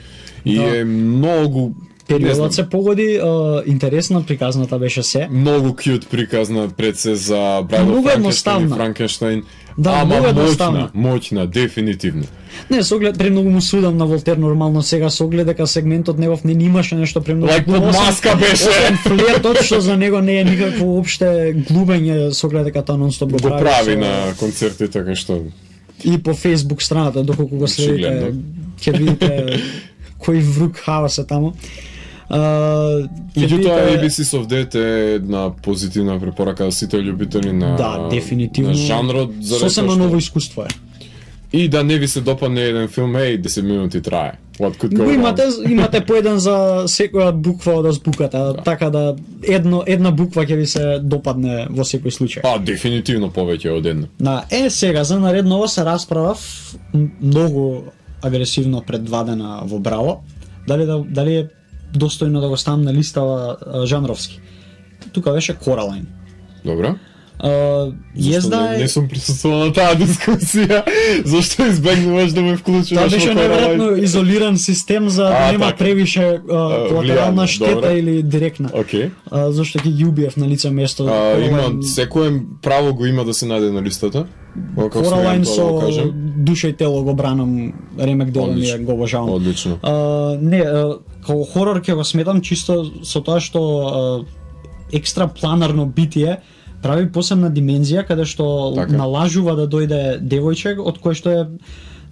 И е многу периодот се погоди, интересна приказната беше се. Многу кјут приказна пред се за Брајд Франкенштайн и Франкенштайн. Да, многу едноставна. Моќна, дефинитивно. Не, со оглед премногу му судам на Волтер нормално сега, со оглед дека сегментот негов не имаше нешто премногу. Под маска беше. Освен флиртот, што за него не е никакво опште глубење, со оглед дека тоа нонстоп го прави на концерти, така што. И по Facebook страната, доколку го следите, ќе видите кој врук хаос е таму. Меѓутоа, ABCs of Death е една позитивна препорака за сите љубители на дефинитивно жанрот, сосема ново искуство е. И да не ви се допадне еден филм, 10 минути трае. Имате по еден за секоја буква од азбуката, така да една буква ќе ви се допадне во секој случај. Дефинитивно повеќе од една. Сега за наредново се расправав многу агресивно пред 2 дена во Браво. Дали е достојно да го ставам на листава жанровски. Тука беше Coraline. Добро. Не сум присуствувал на таа дискусија. Зошто избегнуваш да ме вклучуваш? Тоа беше неверојатно изолиран систем за да нема превише колатерална штета или директна. Зошто ќе ги убиев на лице место. Има секој право го има да се најде на листата. Coraline со душа и тело го бранам, ремек дело ми го обожавам. Одлично. као хорор ќе го сметам чисто со тоа што екстра планарно битие прави посебна димензија каде што налажува да дојде девојче од кој што е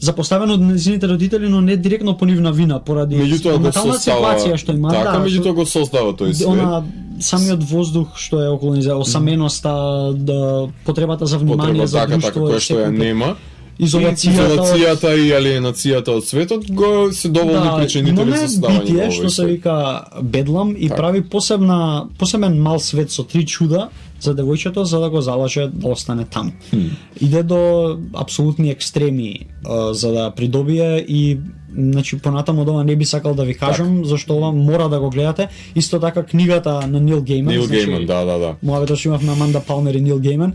запоставено од незините родители, но не директно по нивна вина, поради ментална ситуација што има. Така, меѓутоа го создава тој свет. Она самиот воздух што е околу низа, осаменоста, потребата за внимание, за друштво, кој што ја нема. Изолацијата и алиенацијата од светот го се доволни причинители за создавање на битие што се вика Бедлам и прави посебен мал свет со 3 чуда за девојчето за да го залаже да остане таму. Иде до апсолутни екстреми за да придобие и значи понатаму ова не би сакал да ви кажам зашто ова мора да го гледате. Исто така книгата на Нил Гейман. Нил Гейман, да. Муабетот што имавме Аманда Палмер и Нил Гейман.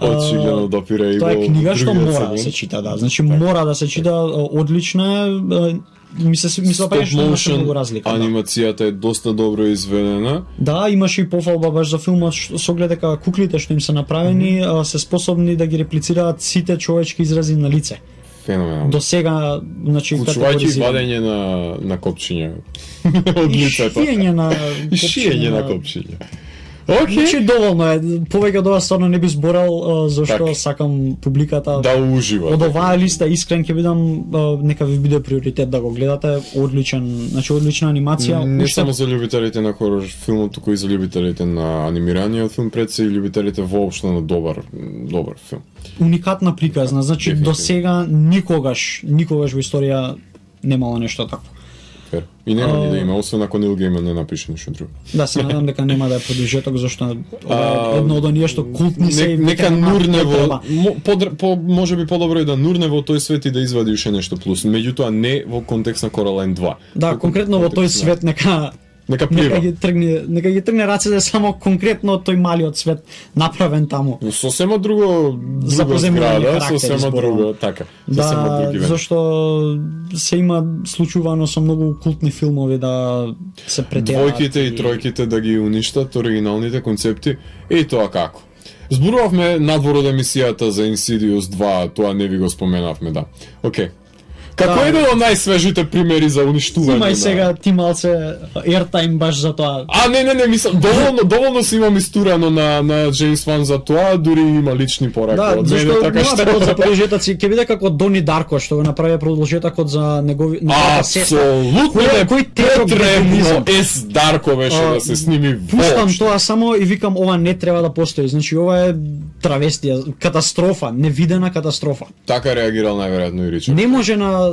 Очигледно допира и тоа е книга што мора да се чита, да. Значи мора да се чита, одлична е. Мисля па што има многу разлика. Анимацијата е доста добро изведена. Да, имаше и пофалба баш за филмот со оглед дека куклите што им се направени се способни да ги реплицираат сите човечки изрази на лице. Феноменално. До сега, значи категоризирано. Вадење на копчиња од лицето. Шиење на копчиња. Значи доволно е, повеќе од ова стварно не би зборал зашто сакам публиката да ужива. Од оваа листа искрен ќе бидам, нека ви биде приоритет да го гледате, одлична анимација. Не само за љубителите на хорор филмот, туку и за ljubителите на анимираниот филм, пред се и љубителите воопшто на добар филм. Уникатна приказна, значи до сега никогаш во историја немало нешто такво. И нема ни да има, освен ако Нил Гейман не напише нешто друго. Да, се надам дека нема да е продолжеток, зашто едно од оние што култни се и нека нурнево, можеби подобро и да нурнево тој свет и да извади уште нешто плюс, меѓутоа не во контекст на Coraline 2. Да, конкретно во тој свет нека ги тргне рацете само конкретно тој малиот свет направен таму. Сосема друго зграда, сосема друго, така. Да, зашто се има случувано со многу култни филмови да се претераат. Двојките и тројките да ги уништат оригиналните концепти, и тоа како. Зборувавме надвор од емисијата за Insidious 2, тоа не ви го споменавме, да. Океј. Како еден од најсвежите примери за уништување? Имај сега ти малце airtime баш за тоа. Не, мислам, доволно си имам истурано на Джеймс Ван за тоа, дури има лични пораки од мене, така што... Да, за продолжетоци, ќе биде како Дони Дарко, што го направи продолжетокот за неговата сестра. Апсолутно непотребно Дарко беше да се сними воопшто. Пуштам тоа само и викам, ова не треба да постои. Значи, ова е травестија, катастрофа, невидена катастрофа. Така реагирал најверојатно и Ричард. Не може на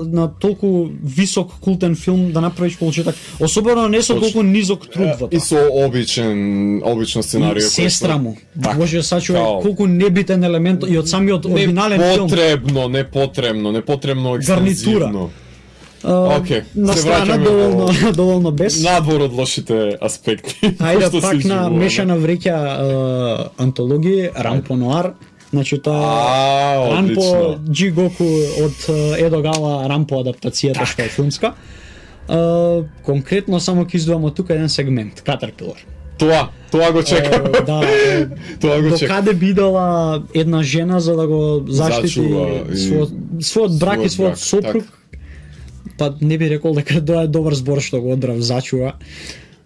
толку висок култен филм да направиш получеток, особено не со толку низок труд во тоа. И со обична сценарија. Сестра му. Боже, сачува колку небитен елемент и од самиот оригинален филм. Непотребно екстензивно. Океј, на страна доволно без. Надвор од лошите аспекти. Ајде пак на мешана вреќа антологии, Рампо Нуар. Значи тоа Рампо Джи Гоку од Едо Гава Рампо адаптацијата што е филмска. Конкретно само ќе издвојам од тука еден сегмент, Caterpillar. Тоа го чекам. Да. До каде бидела една жена за да го заштити својот брак и својот сопруг? Па не би рекол дека тоа е добар збор што го одрав, зачува.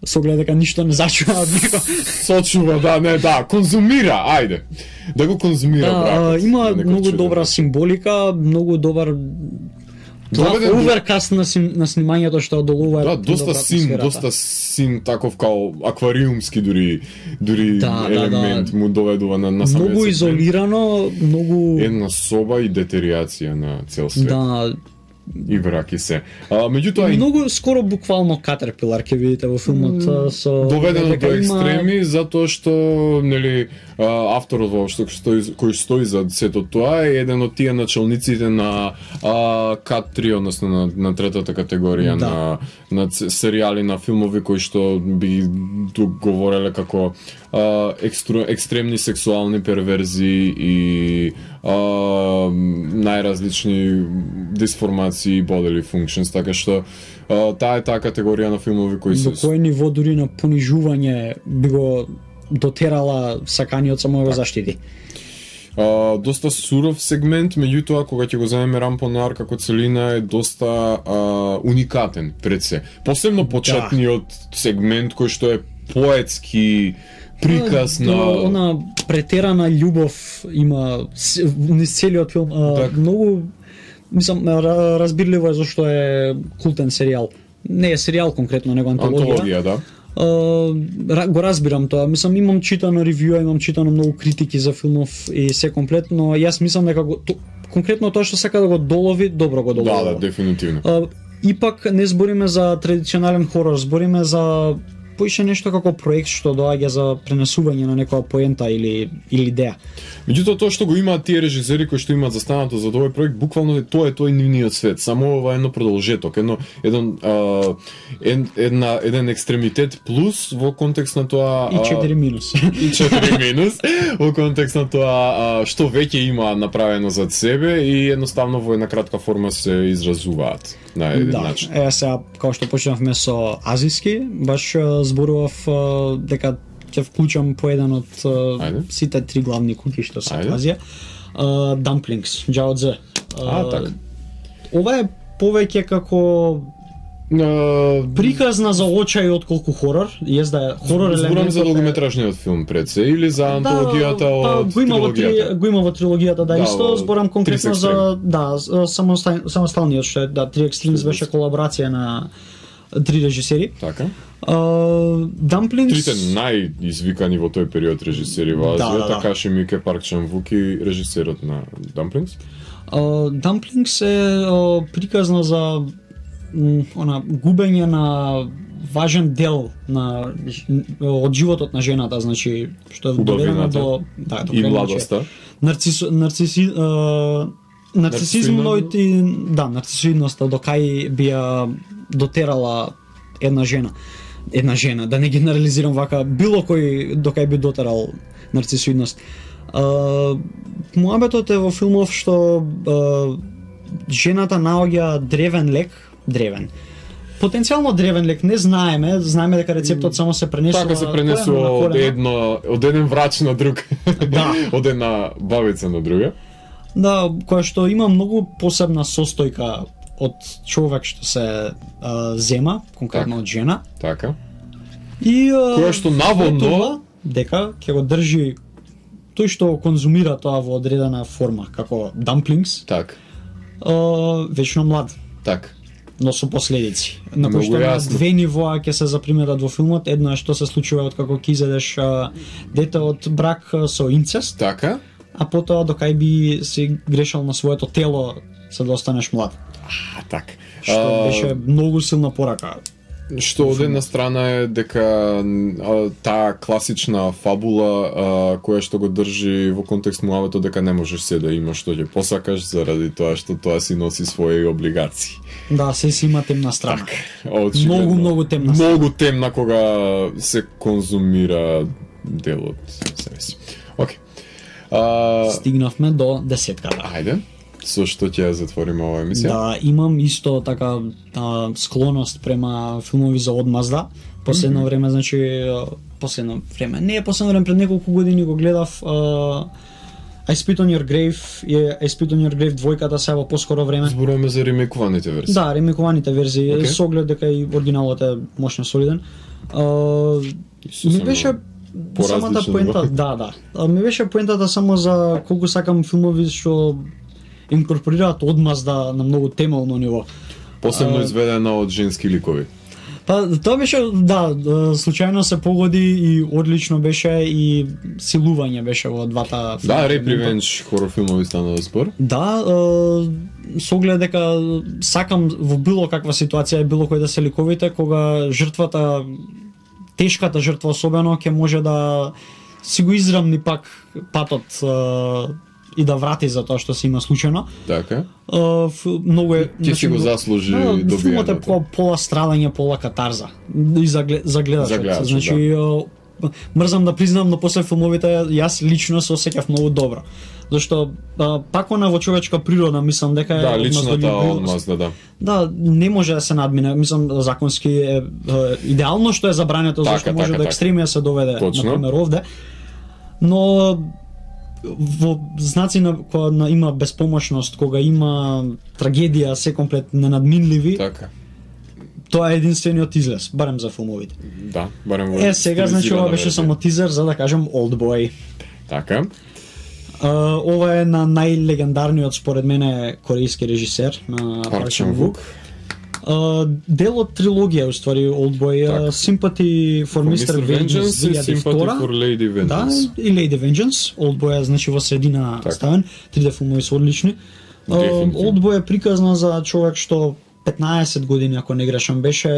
Со оглед дека ништо не зачува од него. Сочува, конзумира, ајде. Да го конзумира бракот. Има многу добра символика, многу добар оверкаст на снимањето што одолува. Да, доста син таков као аквариумски дури елемент му доведува на самиот. Многу изолирано, многу една соба и детериација на цел свет. Да. И враки се. Меѓутоа многу скоро буквално Caterpillar ќе видите во филмот со доведено до екстреми затоа што нели авторот воопшто кој стои за сето тоа е еден од тие началниците на Cat3, односно на третата категорија на серијали на филмови кои што би говореле како екстремни сексуални перверзии и најразлични дисформации bodily functions, така што таа е таа категорија на филмови кои се... До кој ниво дури на понижување би го дотерала саканиот само го заштити? доста суров сегмент, меѓутоа кога ќе го земеме Рампонар како целина е доста уникатен пред се. Посебно почетниот сегмент кој што е поетски приказ на она претерана љубов има низ целиот филм. Многу мислам разбирливо е зашто е култен серијал. Не е серијал конкретно, него антологија. Да. Го разбирам тоа. Мислам имам читано ревјуа, имам читано многу критики за филмов и се комплетно. Јас мислам дека конкретно тоа што сака да го долови, добро го долови. Да, дефинитивно. Ипак не збориме за традиционален хорор, збориме за поише нешто како проект што доаѓа за пренесување на некоја поента или идеја. Меѓутоа тоа што го имаат тие режисери кои што имаат застанато за овој проект, буквално тоа е тој нивниот свет, само ова едно продолжеток, еден екстремитет плюс во контекст на тоа и 4 минус. И 4 минус во контекст на тоа што веќе има направено зад себе и едноставно во една кратка форма се изразуваат на еден начин. Да, сега како што почнавме со азиски, баш зборував дека ќе вклучам по еден од сите три главни куки што се од Азија. Dumplings, Джао Дзе. Така. Ова е повеќе како приказна за очај отколку хорор. Језда е хорор елемент. Зборам за долгометражниот филм пред се или за антологијата од трилогијата? Го има во трилогијата, да, исто. Зборам конкретно за самосталниот што е, Three Extremes беше колаборација на три режисери. Така. Dumplings... Трите најизвикани во тој период режисери во Азија, Такаши Мике, Парк Чан-вук и режисерот на Dumplings. Dumplings е приказна за губење на важен дел од животот на жената, значи што е доведено до и младоста. Нарцисоидноста до кај би ја дотерала една жена, да не генерализирам вака, било кој до кај би дотерал нарцисоидност. Муабетот е во филмов што жената наоѓа древен. Потенцијално древен лек, не знаеме дека рецептот само се пренесува. Така се пренесува од еден врач на друг. Да. Од една бабица на друга. Да, која што има многу посебна состојка од човек што се зема, конкретно од жена. Така. И која што наводно дека ќе го држи тој што конзумира тоа во одредена форма, како dumplings. Так. Вечно млад. Так. Но со последици. На кој што на две нивоа ќе се заприметат во филмот. Едно е што се случува откако ќе изедеш дете од брак со инцест. Така. А потоа докај би си грешал на своето тело за да останеш млад. Так. Што беше многу силна порака. Што од една страна е дека таа класична фабула која што го држи во контекст муавето дека не можеш се да имаш што ќе посакаш заради тоа што тоа си носи своји облигации. Да, се си има темна страна. Так, многу темна страна. Многу темна кога се конзумира делот себе си. Океј. Стигнавме до десетката. Ајде. Со што ќе затвориме оваа емисија? Да, имам исто така склоност према филмови за одмазда. Последно време, значи последно време пред неколку години го гледав I Spit on Your Grave и I Spit on Your Grave двојката се во поскоро време. Зборуваме за ремейкуваните верзии. Да, ремейкуваните верзии, со оглед дека и оригиналот е мощно солиден. Ми беше самата поента, да. Ми беше поентата само за колку сакам филмови што инкорпорираат одмазда на многу темелно ниво. Посебно изведена од женски ликови. Па тоа беше, да, случајно се погоди и одлично беше и силување беше во двата филма. Да, Rape Revenge хорор филмови станува спор. Да, со оглед дека сакам во било каква ситуација било кој да се ликовите, кога жртвата, тешката жртва особено, ќе може да си го израмни пак патот и да врати за тоа што се има случајно. Така. Многу е... Ќе си го заслужи добијањето. Филмот е пола страдање, пола катарза. И за гледачот. Значи, мрзам да признам, но после филмовите јас лично се осеќав многу добро. Зашто пак она во човечка природа, мислам дека е... Да, личната одмазда, да. Да, не може да се надмине. Мислам, законски е идеално што е забрането, зашто може до екстремија се доведе, например, овде. Но во знаци кога има беспомошност, кога има трагедија, се комплет ненадминливи. Така. Тоа е единствениот излез, барем за филмовите. Да, барем во сега значи ова беше само тизер за да кажем Олдбој. Така. Ова е на најлегендарниот според мене корејски режисер на Парк Чан-вук. Дел од трилогија уствари Олдбој, Sympathy for Mr. Vengeance и Sympathy for Lady Vengeance. Да, и Lady Vengeance. Олдбој значи во средина ставен, 3D филмови се одлични. Олдбој е приказна за човек што 15 години, ако не грешам, беше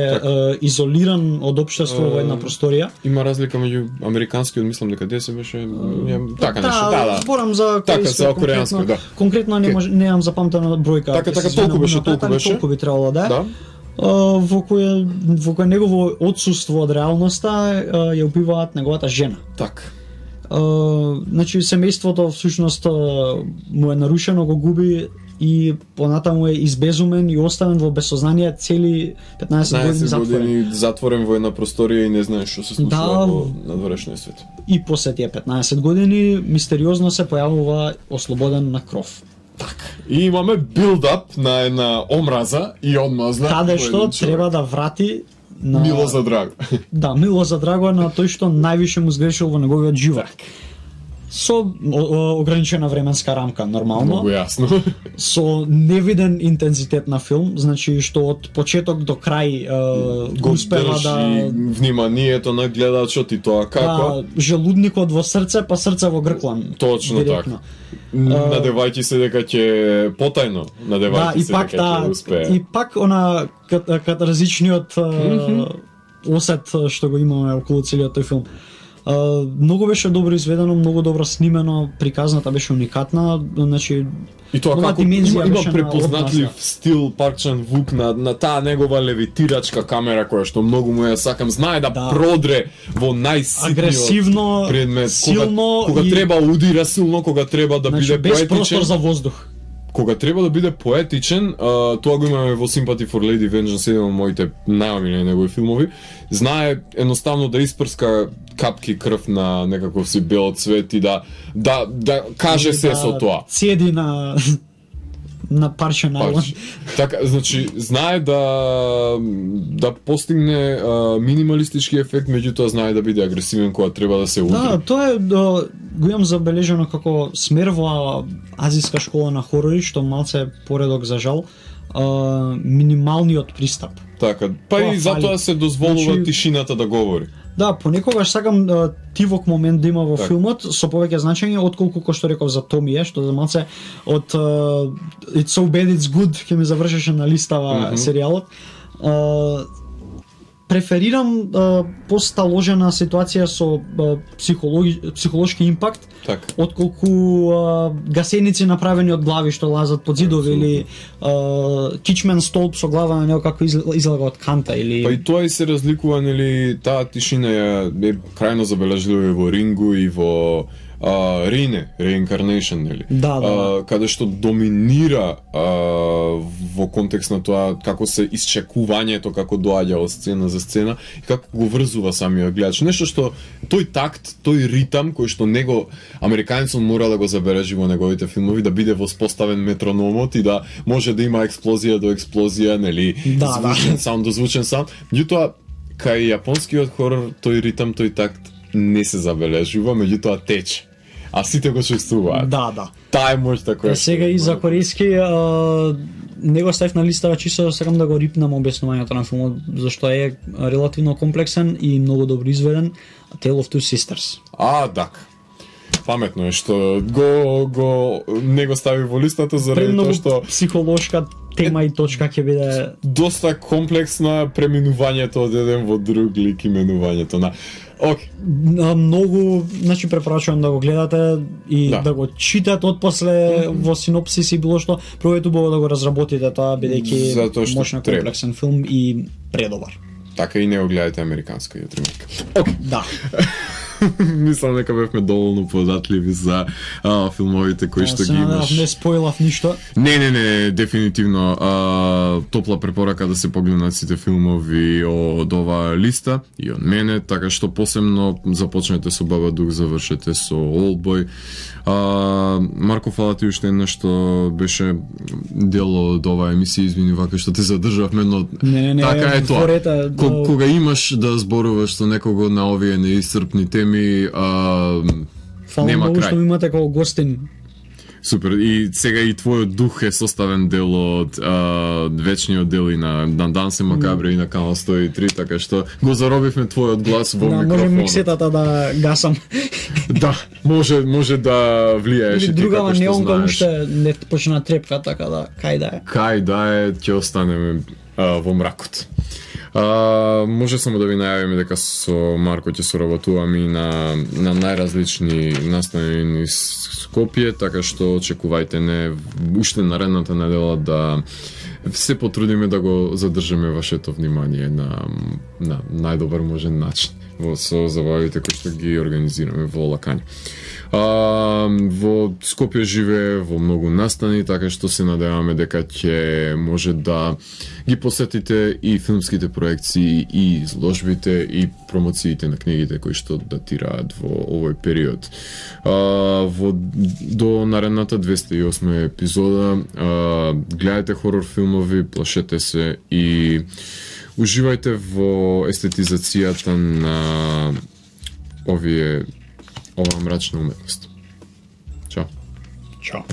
изолиран од општество во една просторија. Има разлика меѓу американскиот, мислам дека се беше така нешто. Да. Зборам за корејански, да. Конкретно немам запамтена бројка. Така, толку беше. Толку би требало да. Во кој негово отсуство од реалноста ја убиваат неговата жена. Така. Значи семејството всушност му е нарушено, го губи и понатаму е избезумен и оставен во безсознание цели 15 години затворен. 15 години затворен во една просторија и не знае што се случува во надворешниот свет. И после тие 15 години мистериозно се појавува ослободен на кров. Така. И имаме билдап на една омраза и одмазна. Каде што треба да врати на Мило за драго. Да, Мило за драго на тој што највише му сгрешил во неговиот живот. Со ограничена временска рамка, нормално. Многу јасно. Со невиден интензитет на филм, значи што од почеток до крај го успева да вниманието на гледачот и тоа како желудникот во срце, па срце во грклан. Точно така. Надевајќи се дека ќе потајно, надевајќи се дека ќе успее. И пак она катарзичниот осет што го имаме околу целиот тој филм. Многу беше добро изведено, многу добро снимено, приказната беше уникатна, значи и тоа како има препознатлив стил Парк Чан-вук на таа негова левитирачка камера која што многу му ја сакам, знае да продре во најситниот агресивно, предмет, силно кога треба удира силно, кога треба да биде без простор за воздух. Кога треба да биде поетичен, тоа го имаме во Sympathy for Lady Vengeance, еден од моите најомилени негови филмови. Знае едноставно да испрска капки крв на некаков си бел цвет и да каже се со тоа. Седи на парче најлон. Така, значи, знае да постигне минималистички ефект, меѓутоа знае да биде агресивен кога треба да се удри. Да, тоа е го имам забележано како смер во азиска школа на хорори, што малце поредок за жал, минималниот пристап. Така, па и затоа се дозволува тишината да говори. Да, понекогаш сакам тивок момент да има во филмот со повеќе значење отколку кој што реков за Томие, што за малце од It's So Bad It's Good ќе ми завршеше на листава серијалот. Преферирам посталожена ситуација со психолошки импакт, отколку гасеници направени од глави што лазат под зидови или кичмен столб со глава на него како излага од канта или. Па и тоа и се разликува, нели, таа тишина е крајно забележлива во Рингу и во Рине, Reincarnation, нели? Да. Каде што доминира во контекст на тоа како се исчекувањето, како доаѓа од сцена за сцена и како го врзува самиот гледач. Нешто што тој такт, тој ритам кој што него американецот мора да го забележи во неговите филмови, да биде воспоставен метрономот и да може да има експлозија до експлозија, нели? Звучен саунд до звучен саунд. Меѓутоа, кај јапонскиот хорор тој ритам, тој такт не се забележува, меѓутоа тече. А сите го чувствуваат. Да. Таа е моќта која. Сега и за корејски него ставив на листава чисто сакам да го рипнам објаснувањето на филмот, зашто е релативно комплексен и многу добро изведен. Tale of Two Sisters. Така. Паметно е што го не го стави во листата заради тоа што психолошка тема и точка ќе биде доста комплексна, преминувањето од еден во друг лик, именувањето на многу, значи препорачувам да го гледате и да го читате отпосле во синопсис и било што, прво убаво да го разработите тоа бидејќи мощно комплексен филм и предобар. Така и не го гледате американска ремейка. Да. Мислам дека бевме доволно податливи за филмовите кои што ги имаш. Не спойлав ништо. Не, дефинитивно топла препорака да се погледнат сите филмови од оваа листа и од мене, така што посебно започнете со Бабадук, завршете со Олдбој. Марко, фала ти уште еднаш што беше дел од оваа емисија, извини вака што те задржавме, но не, така е тоа. Кога имаш да зборуваш со некого на овие неисцрпни теми, нема крај. Фала што имате како гостин. Супер, и сега и твојот дух е составен дел од вечниот дел и на Дансе Макабре и на Канал 103, така што го заробивме твојот глас во микрофонот. Може миксетата да гасам. Да, може да влијаеш и ти како што знаеш. Неонка уште не почна трепка, така да, Кај да е, ќе останеме во мракот. Може само да ви најавиме дека со Марко ќе соработуваме и на најразлични настани низ Скопје, така што очекувајте не уште наредната недела да се потрудиме да го задржиме вашето внимание на најдобар можен начин со забавите кои што ги организираме во Лакања. Во Скопје живее во многу настани, така што се надеваме дека ќе може да ги посетите и филмските проекции, и изложбите, и промоциите на книгите кои што датираат во овој период. До наредната 208 епизода гледајте хорор филмови, плашете се и уживајте во естетизацијата на оваа мрачна уметност. Чао.